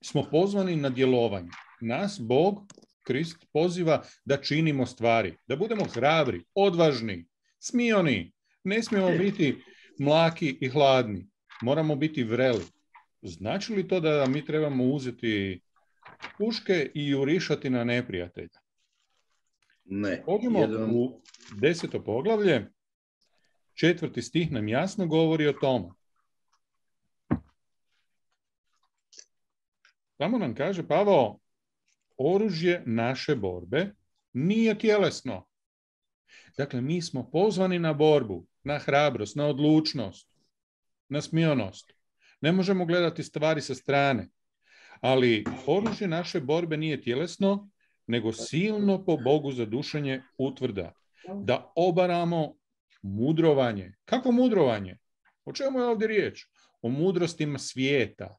smo pozvani na djelovanje. Nas Bog, Krist, poziva da činimo stvari, da budemo hrabri, odvažni, smioni. Ne smijemo biti mlaki i hladni. Moramo biti vreli. Znači li to da mi trebamo uzeti puške i jurišati na neprijatelja? Ne. Pođemo Jedan... u deseto poglavlje. Četvrti stih nam jasno govori o tome. Tamo nam kaže Pavao, oružje naše borbe nije tjelesno. Dakle, mi smo pozvani na borbu, na hrabrost, na odlučnost, na smionost. Ne možemo gledati stvari sa strane. Ali oružje naše borbe nije tjelesno, nego silno po Bogu za dušenje utvrda. Da obaramo mudrovanje. Kako mudrovanje? O čemu je ovdje riječ? O mudrostima svijeta.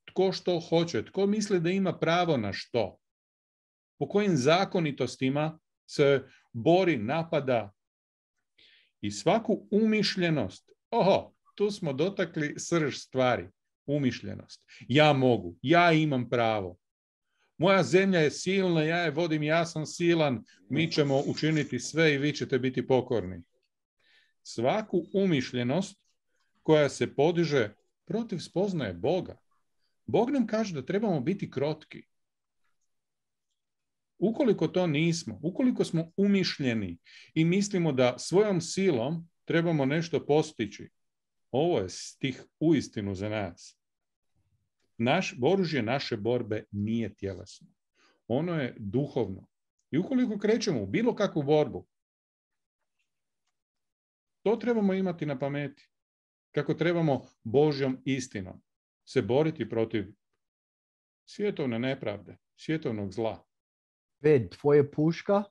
Tko što hoće, tko misli da ima pravo na što? Po kojim zakonitostima se bori, napada i svaku umišljenost. Oho, tu smo dotakli srž stvari. Umišljenost. Ja mogu, ja imam pravo. Moja zemlja je silna, ja je vodim, ja sam silan, mi ćemo učiniti sve i vi ćete biti pokorni. Svaku umišljenost koja se podiže protiv spoznaje Boga. Bog nam kaže da trebamo biti krotki. Ukoliko to nismo, ukoliko smo umišljeni i mislimo da svojom silom trebamo nešto postići, ovo je stih uistinu za nas. Naš, oružje naše borbe nije tjelesno. Ono je duhovno. I ukoliko krećemo u bilo kakvu borbu, to trebamo imati na pameti. Kako trebamo Božjom istinom se boriti protiv svjetovne nepravde, svjetovnog zla. Ved, tvoje puška?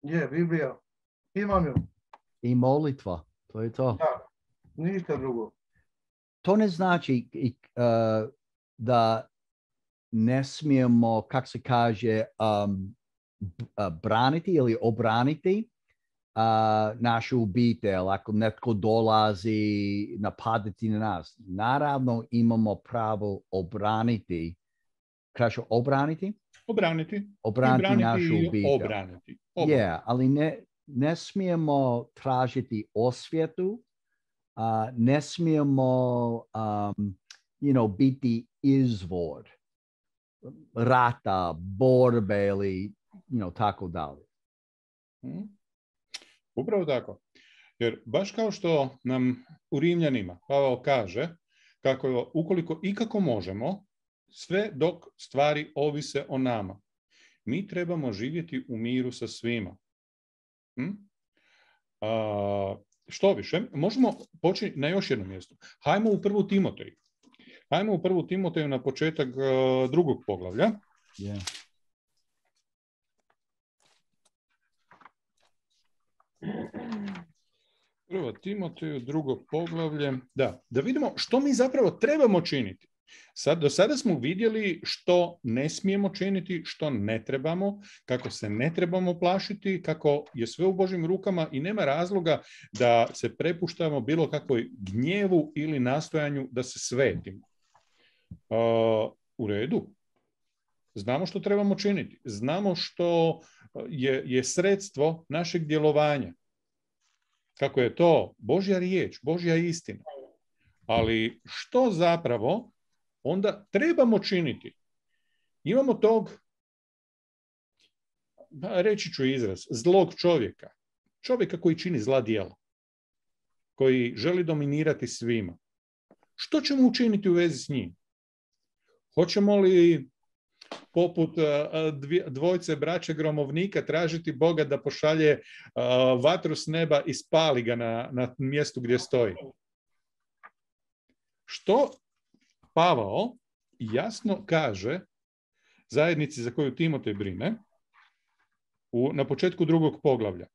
Je, Biblija. Imam ju. I molitva. To je to. Da, ništa drugo. To ne znači uh, da ne smijemo, kako se kaže, um, braniti ili obraniti uh, našu obitelj. Ako netko dolazi napadati na nas, naravno imamo pravo obraniti. Kažu obraniti? Obraniti. Obraniti, obraniti našu obitelj. Obraniti. obraniti. Yeah, ali ne, ne smijemo tražiti osvjetu. Uh, ne smijemo um, you know, biti izvor rata, borbe ili you know, tako dalje. Hmm. Upravo tako. Jer baš kao što nam u Rimljanima Pavao kaže, kako ukoliko ikako možemo, sve dok stvari ovise o nama, mi trebamo živjeti u miru sa svima. Hmm? Uh, Što više, možemo početi na još jednom mjestu. Hajmo u prvu Timoteju. Hajmo u prvu Timoteju na početak uh, drugog poglavlja. Yeah. Prvo Timoteju, drugo poglavlje. Da, da vidimo što mi zapravo trebamo činiti. Sad, do sada smo vidjeli što ne smijemo činiti, što ne trebamo, kako se ne trebamo plašiti, kako je sve u Božjim rukama i nema razloga da se prepuštamo bilo kakvoj gnjevu ili nastojanju da se svetimo. Uh, u redu. Znamo što trebamo činiti. Znamo što je, je sredstvo našeg djelovanja. Kako je to Božja riječ, Božja istina. Ali što zapravo onda trebamo činiti? Imamo tog, reći ću izraz, zlog čovjeka. Čovjeka koji čini zla djela. Koji želi dominirati svima. Što ćemo učiniti u vezi s njim? Hoćemo li poput dvojce braće gromovnika tražiti Boga da pošalje vatru s neba i spali ga na, na mjestu gdje stoji? Što Pavao jasno kaže zajednici za koju Timotej brine u, na početku drugog poglavlja.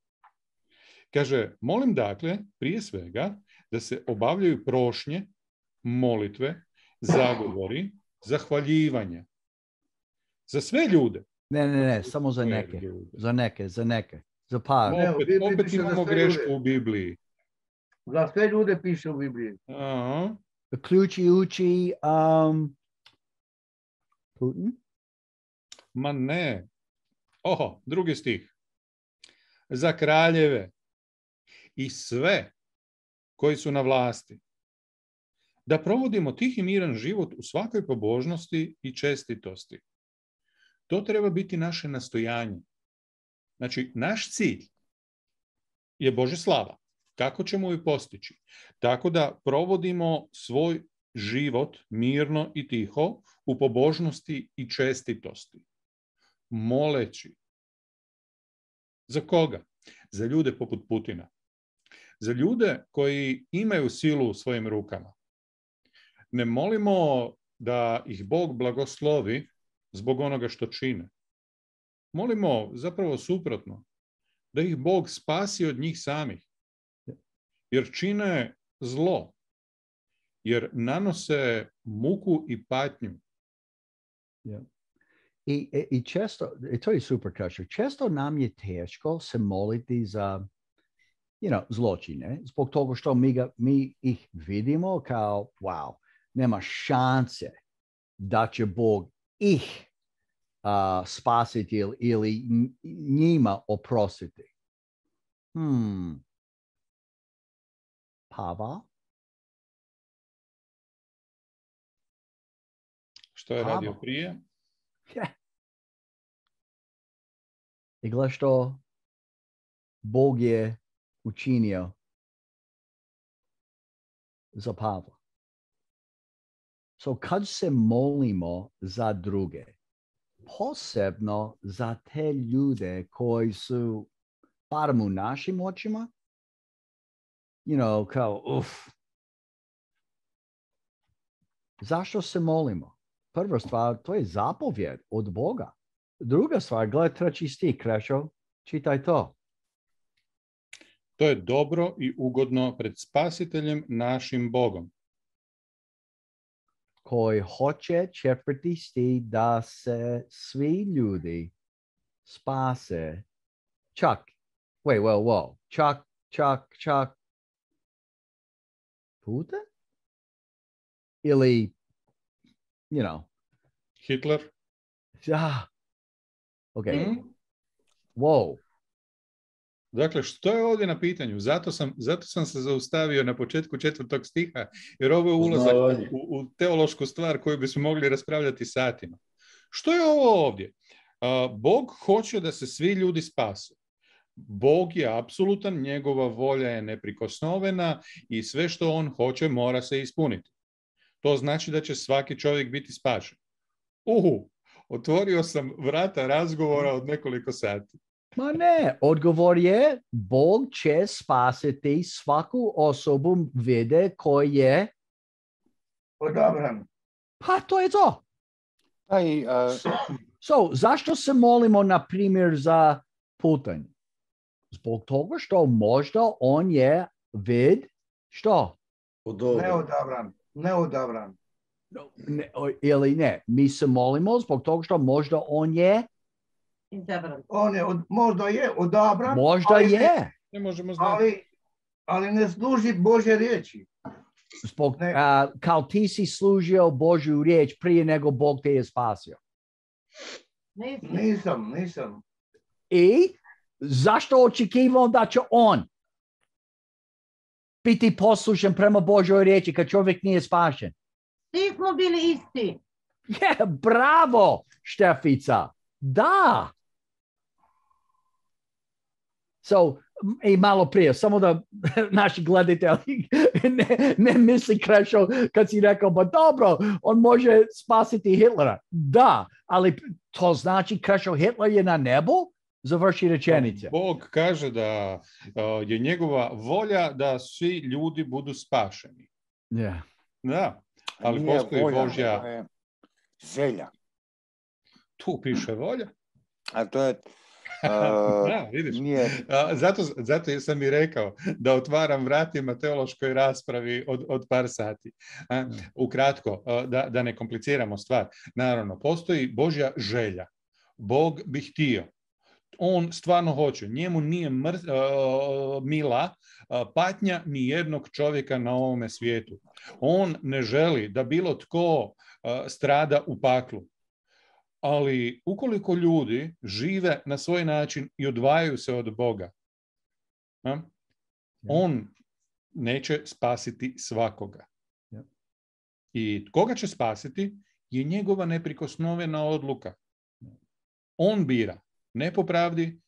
Kaže, molim dakle, prije svega, da se obavljaju prošnje, molitve, zagovori, zahvaljivanja za sve ljude, Ne, ne, ne, samo za neke. Za neke, za neke. Za par. Ne, u Opet, Bibliji opet piše za imamo sve grešku ljude. u Bibliji. Za sve ljude piše u Bibliji. Aha. Uključujući um, Putin? Ma ne. Oho, drugi stih. Za kraljeve i sve koji su na vlasti, da provodimo tih i miran život u svakoj pobožnosti i čestitosti. To treba biti naše nastojanje. Znači, naš cilj je Božja slava. Kako ćemo ju postići? Tako da provodimo svoj život mirno i tiho u pobožnosti i čestitosti. Moleći. Za koga? Za ljude poput Putina. Za ljude koji imaju silu u svojim rukama. Ne molimo da ih Bog blagoslovi zbog onoga što čine. Molimo zapravo suprotno, da ih Bog spasi od njih samih. Jer čine zlo. Jer nanose muku i patnju. Yeah. I, i često, i to je super kaže, često nam je teško se moliti za you know, zločine, zbog toga što mi, ga, mi ih vidimo kao, wow, nema šanse da će Bog ih uh, spasiti ili, ili njima oprostiti. Hmm. Pava? Što je Pava. radio prije? Yeah. I gle što Bog je učinio za Pavla. So kad se molimo za druge, posebno za te ljude koji su, barem u našim očima, you know, kao, uf. Zašto se molimo? Prva stvar, to je zapovjed od Boga. Druga stvar, gledaj treći stih, Krešo, čitaj to. To je dobro i ugodno pred Spasiteljem našim Bogom. Koji hoće, četvrti stih, da se svi ljudi spase. Čak, wait, well, well, čak, čak, čak, Putin? Ili, you know. Hitler? Ja. Ok. Hmm? Wow. Dakle, što je ovdje na pitanju? Zato sam, zato sam se zaustavio na početku četvrtog stiha, jer ovo je ulazak u, u teološku stvar koju bismo mogli raspravljati satima. Što je ovo ovdje? Uh, Bog hoće da se svi ljudi spasu. Bog je apsolutan, njegova volja je neprikosnovena i sve što on hoće mora se ispuniti. To znači da će svaki čovjek biti spašen. Uhu, otvorio sam vrata razgovora od nekoliko sati. Ma ne, odgovor je Bog će spasiti svaku osobu vide koji je odabran. Pa to je to. Aj, uh... So, zašto se molimo, na primjer, za Putin? Zbog toga što možda on je vid, što? Neodabran, neodabran. Ne, ili ne, mi se molimo zbog toga što možda on je Izabran. On je, od, možda je odabran. Možda ali je. Ne, ne možemo znati. Ali, ali ne služi Božje riječi. Zbog, uh, kao ti si služio Božju riječ prije nego Bog te je spasio. Nisam, nisam. I zašto očekivao da će on biti poslušan prema Božoj riječi kad čovjek nije spašen? Svi smo bili isti. Yeah, bravo, Štefica. Da. So, i malo prije, samo da naši gledatelji ne, ne misli Krešo kad si rekao, ba dobro, on može spasiti Hitlera. Da, ali to znači Krešo, Hitler je na nebu? Završi rečenice. Bog kaže da uh, je njegova volja da svi ljudi budu spašeni. Yeah. Da, ali nije postoji volja, Božja... je želja. Tu piše volja. A to je... Uh, da, vidiš. Nije... A, zato, zato sam i rekao da otvaram vratima teološkoj raspravi od, od par sati. A, ukratko, da, da ne kompliciramo stvar. Naravno, postoji Božja želja. Bog bi htio. On stvarno hoće. Njemu nije mr, uh, mila uh, patnja ni jednog čovjeka na ovome svijetu. On ne želi da bilo tko uh, strada u paklu. Ali ukoliko ljudi žive na svoj način i odvajaju se od Boga, uh, on neće spasiti svakoga. I koga će spasiti je njegova neprikosnovena odluka. On bira. Ne po pravdi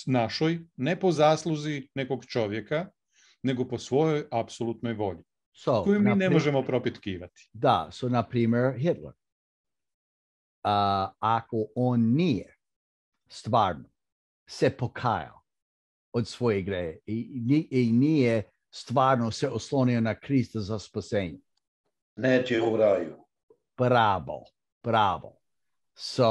našoj, ne po zasluzi nekog čovjeka, nego po svojoj apsolutnoj volji, So, koju mi na ne pri- možemo propitkivati. Da, so na primjer Hitler. A, ako on nije stvarno se pokajao od svoje greje i, ni- i nije stvarno se oslonio na Krista za spasenje, Neće u raju. bravo, bravo. So,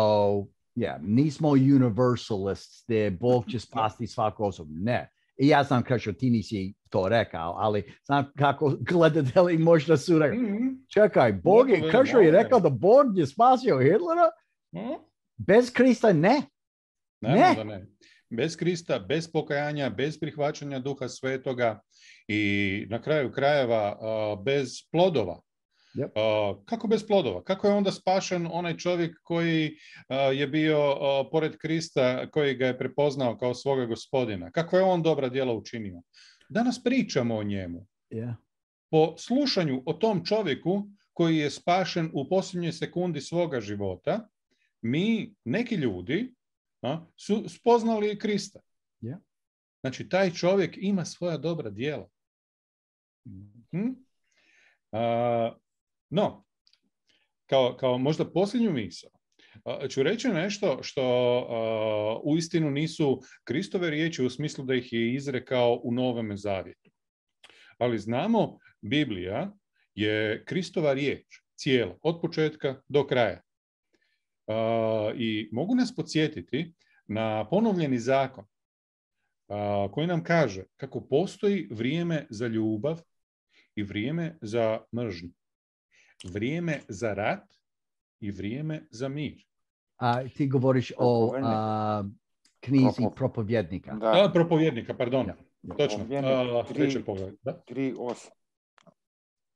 yeah, nismo universalists gdje Bog će spasti svaku osobu. Ne. I ja znam kako ti nisi to rekao, ali znam kako gledatelji možda su rekli. Mm-hmm. Čekaj, Bog je, Kršo je rekao da Bog je spasio Hitlera? Mm-hmm. Bez Krista ne. Naravno Ne. da ne. Bez Krista, bez pokajanja, bez prihvaćanja Duha Svetoga i na kraju krajeva uh, bez plodova. Yep. Uh, kako bez plodova? Kako je onda spašen onaj čovjek koji uh, je bio uh, pored Krista, koji ga je prepoznao kao svoga gospodina? Kako je on dobra djela učinio? Danas pričamo o njemu. Yeah. Po slušanju o tom čovjeku koji je spašen u posljednjoj sekundi svoga života, mi, neki ljudi, a, su spoznali Krista. Yeah. Znači, taj čovjek ima svoja dobra djela. Hm? A, no, kao, kao možda posljednju misao, a, ću reći nešto što a, uistinu nisu Kristove riječi u smislu da ih je izrekao u Novome Zavjetu. Ali znamo, Biblija je Kristova riječ, cijela, od početka do kraja. Uh, I mogu nas podsjetiti na ponovljeni zakon uh, koji nam kaže kako postoji vrijeme za ljubav i vrijeme za mržnju. Vrijeme za rat i vrijeme za mir. A ti govoriš o a, knjizi Propov- propovjednika. Da, A, propovjednika, pardon. Ja, ja. Točno. Propovjednik, Uh, tri- treći pogled. Da? tri osam.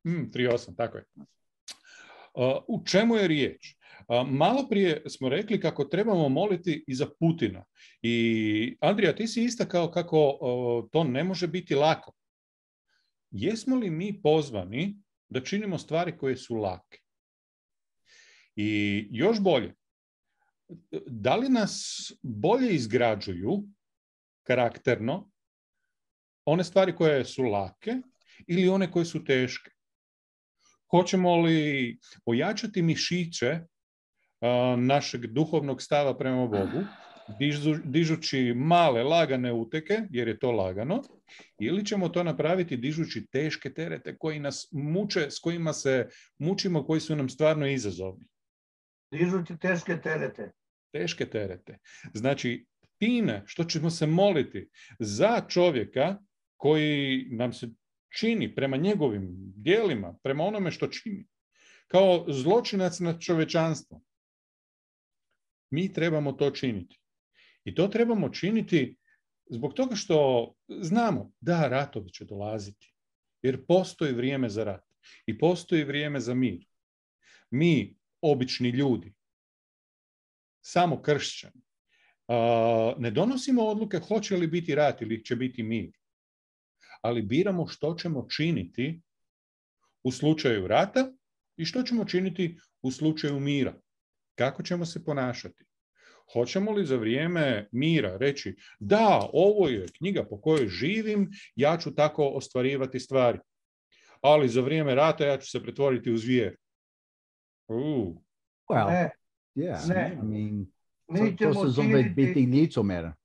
Mm, tri osam, tako je. Uh, u čemu je riječ? Uh, malo prije smo rekli kako trebamo moliti i za Putina. I Andrija, ti si istakao kako uh, to ne može biti lako. Jesmo li mi pozvani da činimo stvari koje su lake? I još bolje, da li nas bolje izgrađuju karakterno one stvari koje su lake ili one koje su teške? Hoćemo li ojačati mišiće a, našeg duhovnog stava prema Bogu, dižu, dižući male, lagane uteke, jer je to lagano, ili ćemo to napraviti dižući teške terete koji nas muče, s kojima se mučimo, koji su nam stvarno izazovni? Dižući teške terete. Teške terete. Znači, time što ćemo se moliti za čovjeka koji nam se čini prema njegovim djelima, prema onome što čini, kao zločinac nad čovječanstvom, mi trebamo to činiti. I to trebamo činiti zbog toga što znamo da ratovi će dolaziti, jer postoji vrijeme za rat i postoji vrijeme za mir. Mi, obični ljudi, samo kršćani, ne donosimo odluke hoće li biti rat ili će biti mir, ali biramo što ćemo činiti u slučaju rata i što ćemo činiti u slučaju mira. Kako ćemo se ponašati? Hoćemo li za vrijeme mira reći da, ovo je knjiga po kojoj živim, ja ću tako ostvarivati stvari, ali za vrijeme rata ja ću se pretvoriti u zvijer. Uh. Well, Ne, yeah, ne. I mean, mi to, to ćemo se zove biti činiti, licomera.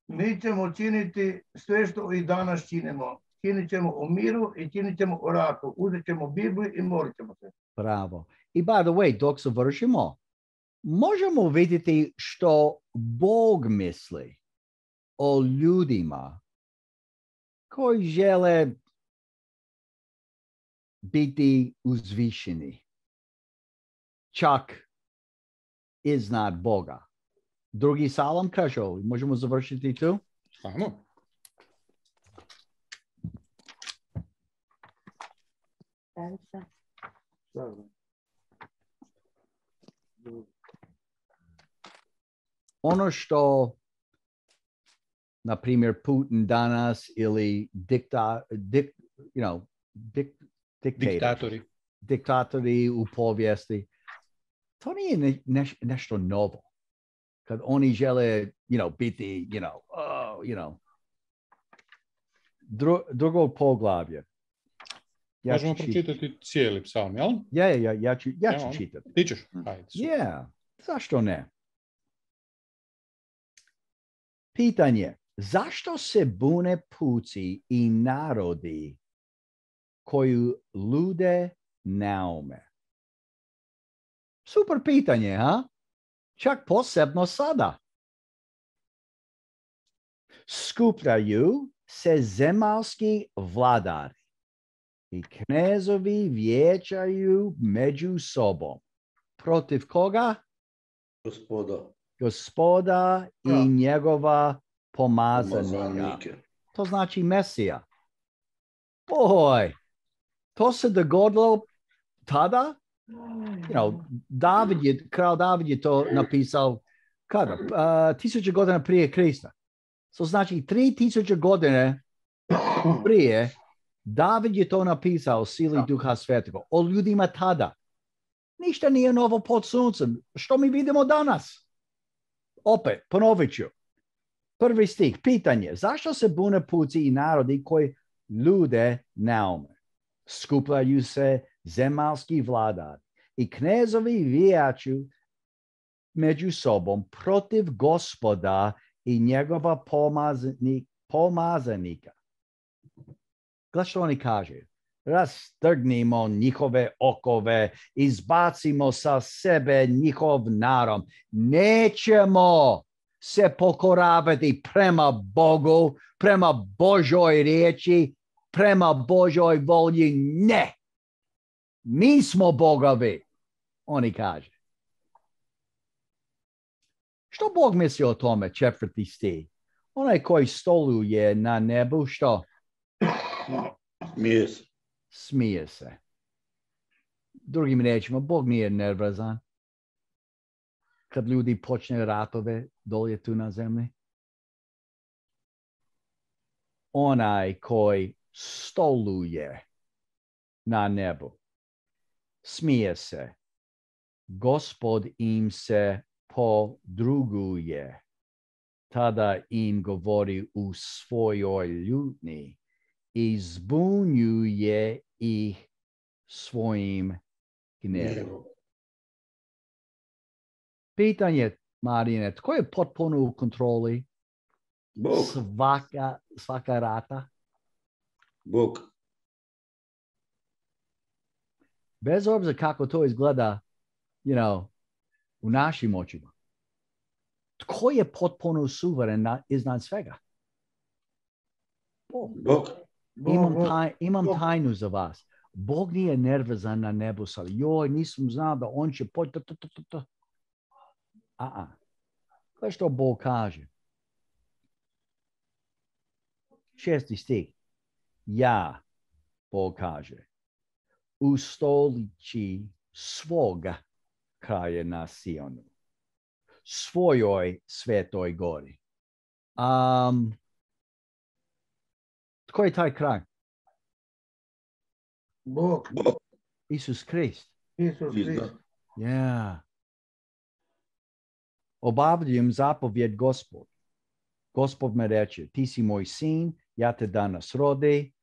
mi ćemo činiti sve što i danas činimo. Činit ćemo o miru i činit ćemo o ratu. Uzet ćemo Bibliju i molit ćemo se. Bravo. I by the way, dok završimo, možemo vidjeti što Bog misli o ljudima koji žele biti uzvišeni, čak iznad Boga. Drugi salam kažu, možemo završiti tu? Ajmo. Ono što, na primjer, Putin danas ili dikta, dik, you know, dik, Diktatori. diktatori u povijesti, to nije ne, ne, nešto novo. Kad oni žele, you know, biti, you know, oh, you know, dru, drugog poglavlja. Ja Možemo pročitati cijeli psalm, jel? Ja, ja, ja ću, ja ću Evo, čitati. Ti ćeš? Ajde. Yeah, zašto ne? Pitanje, zašto se bune puci i narodi koju lude naume? Super pitanje, ha? Čak posebno sada. Skupljaju se zemaljski vladari i knezovi vijećaju među sobom. Protiv koga? Gospoda. Gospoda i Ja. njegova pomazanika. Pomazanike. To znači Mesija. Boj, to se dogodilo tada? You know, David je, kralj David je to napisao kada? Uh, tisuće godina prije Krista. To znači tri tisuće godine prije David je to napisao sili Duha Svetog o ljudima tada. Ništa nije novo pod suncem. Što mi vidimo danas? Opet, ponovit ću. Prvi stih, pitanje. Zašto se bune puci i narodi koji lude naume? Skupljaju se zemaljski vladari i knezovi vijeću među sobom protiv Gospoda i njegova pomazanik, pomazanika. Gledaj što oni kažu. Rastrgnimo njihove okove, izbacimo sa sebe njihov narod. Nećemo se pokoravati prema Bogu, prema Božoj riječi, prema Božoj volji. Ne. Mi smo bogovi, oni kažu. Što Bog misli o tome, četvrti stih? Onaj koji stoluje na nebu, što? Smije se. Smije se. Drugim riječima, Bog nije nervozan kad ljudi počne ratove dolje tu na zemlji. Onaj koji stoluje na nebu smije se. Gospod im se podruguje. Tada im govori u svojoj ljutni i zbunjuje ih svojim gnevom. Pitanje, Marine, tko je potpuno u kontroli Bog. svaka, svaka rata? Bog. Bez obzira kako to izgleda, you know, u našim očima. Tko je potpuno suveren na, iznad svega? Bog. Bog. Imam, Bog, taj, imam Bog. tajnu za vas. Bog nije nervozan na nebu, sad, joj, nisam znao da on će poći. A-a. Gledaj što Bog kaže. Šesti stih. Ja, Bog kaže, ustoliči svoga kraja na Sionu, svojoj svetoj gori. Um, tko je taj kraj? Bog, Bog. Isus Krist. Isus Krist. Izda. Yeah. Obavljam zapovjed Gospod. Gospod me reče, ti si moj sin, ja te danas rodi.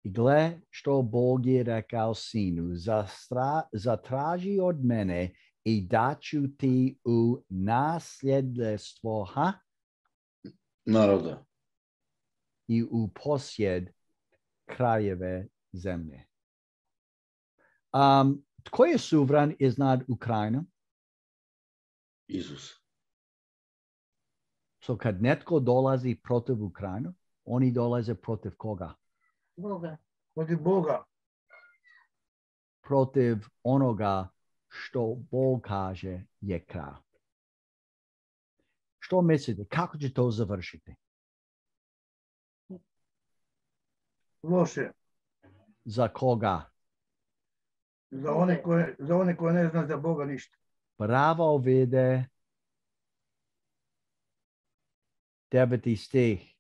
I gle što Bog je rekao sinu, zastra, zatraži od mene i daću ti u nasljedstvo, ha? Naroda. I u posjed krajeve zemlje. Um, tko je suvran iznad Ukrajine? Isus. So kad netko dolazi protiv Ukrajine, oni dolaze protiv koga? Boga. Protiv Boga. Protiv onoga što Bog kaže je kraj. Što mislite? Kako će to završiti? Loše. Za koga? Za one koje, za one koje ne zna za Boga ništa. Pravo vide. Deveti stih.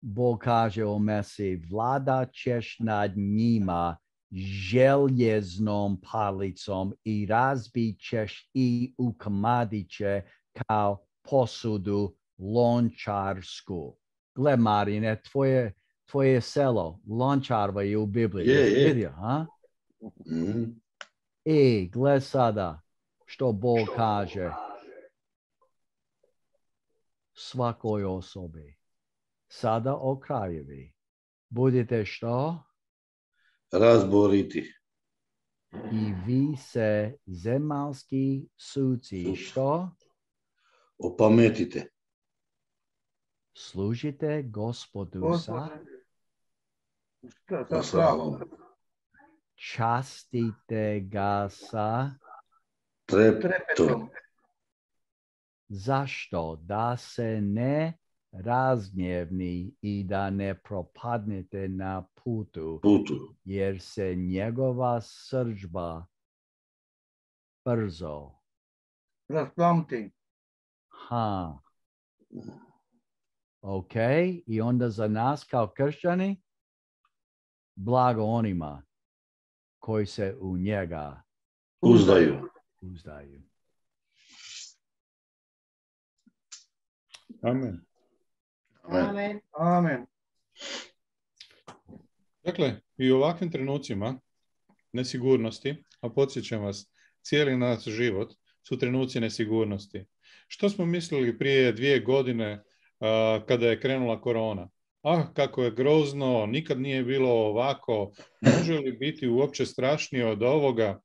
Bog kaže o Mesiji, vlada ćeš nad njima željeznom palicom i razbit ćeš i ukomadit će kao posudu lončarsku. Gle, Marine, tvoje, tvoje selo, Lončarva je u Bibliji. Je, je. Vidio, ha? Mm. I gle sada što Bog kaže svakoj osobi. Sada o krajevi. Budite što? Razboriti. I vi se zemaljski suci što? Opametite. Služite Gospodu sa? Sa, Sa sa slavom. Častite ga sa? Trepetom. Trepetom. Zašto? Da se ne razgnjevni i da ne propadnete na putu, Putu. jer se njegova srdžba brzo. Rasplamti. Ha. Ok, i onda za nas kao kršćani, blago onima koji se u njega Uzdaju. uzdaju. Amen. Amen. Amen. Dakle, i u ovakvim trenucima nesigurnosti, a podsjećam vas, cijeli naš život su trenuci nesigurnosti. Što smo mislili prije dvije godine uh, kada je krenula korona? Ah, kako je grozno, nikad nije bilo ovako, može li biti uopće strašnije od ovoga?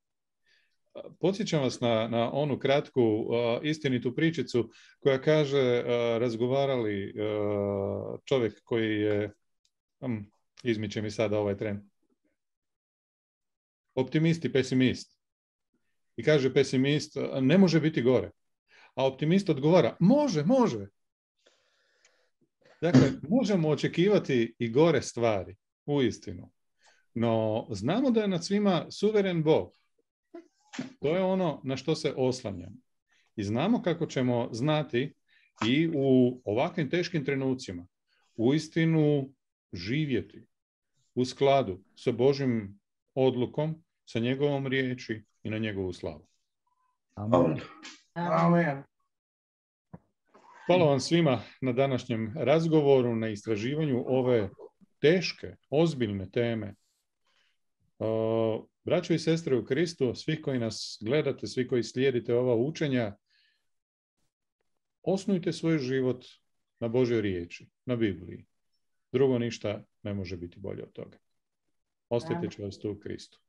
Podsjećam vas na, na onu kratku uh, istinitu pričicu koja kaže, uh, razgovarali uh, čovjek koji je, um, izmiče mi sada ovaj tren, optimist i pesimist. I kaže pesimist, ne može biti gore. A optimist odgovara, može, može. Dakle, možemo očekivati i gore stvari, uistinu. No, znamo da je nad svima suveren Bog. To je ono na što se oslanjamo. I znamo kako ćemo znati i u ovakvim teškim trenucima uistinu živjeti u skladu sa Božjim odlukom, sa njegovom riječi i na njegovu slavu. Amen. Amen. Hvala vam svima na današnjem razgovoru, na istraživanju ove teške, ozbiljne teme. Uh, braćo i sestre u Kristu, svi koji nas gledate, svi koji slijedite ova učenja, osnujte svoj život na Božoj riječi, na Bibliji. Drugo ništa ne može biti bolje od toga. Ostajte čvrsto u Kristu.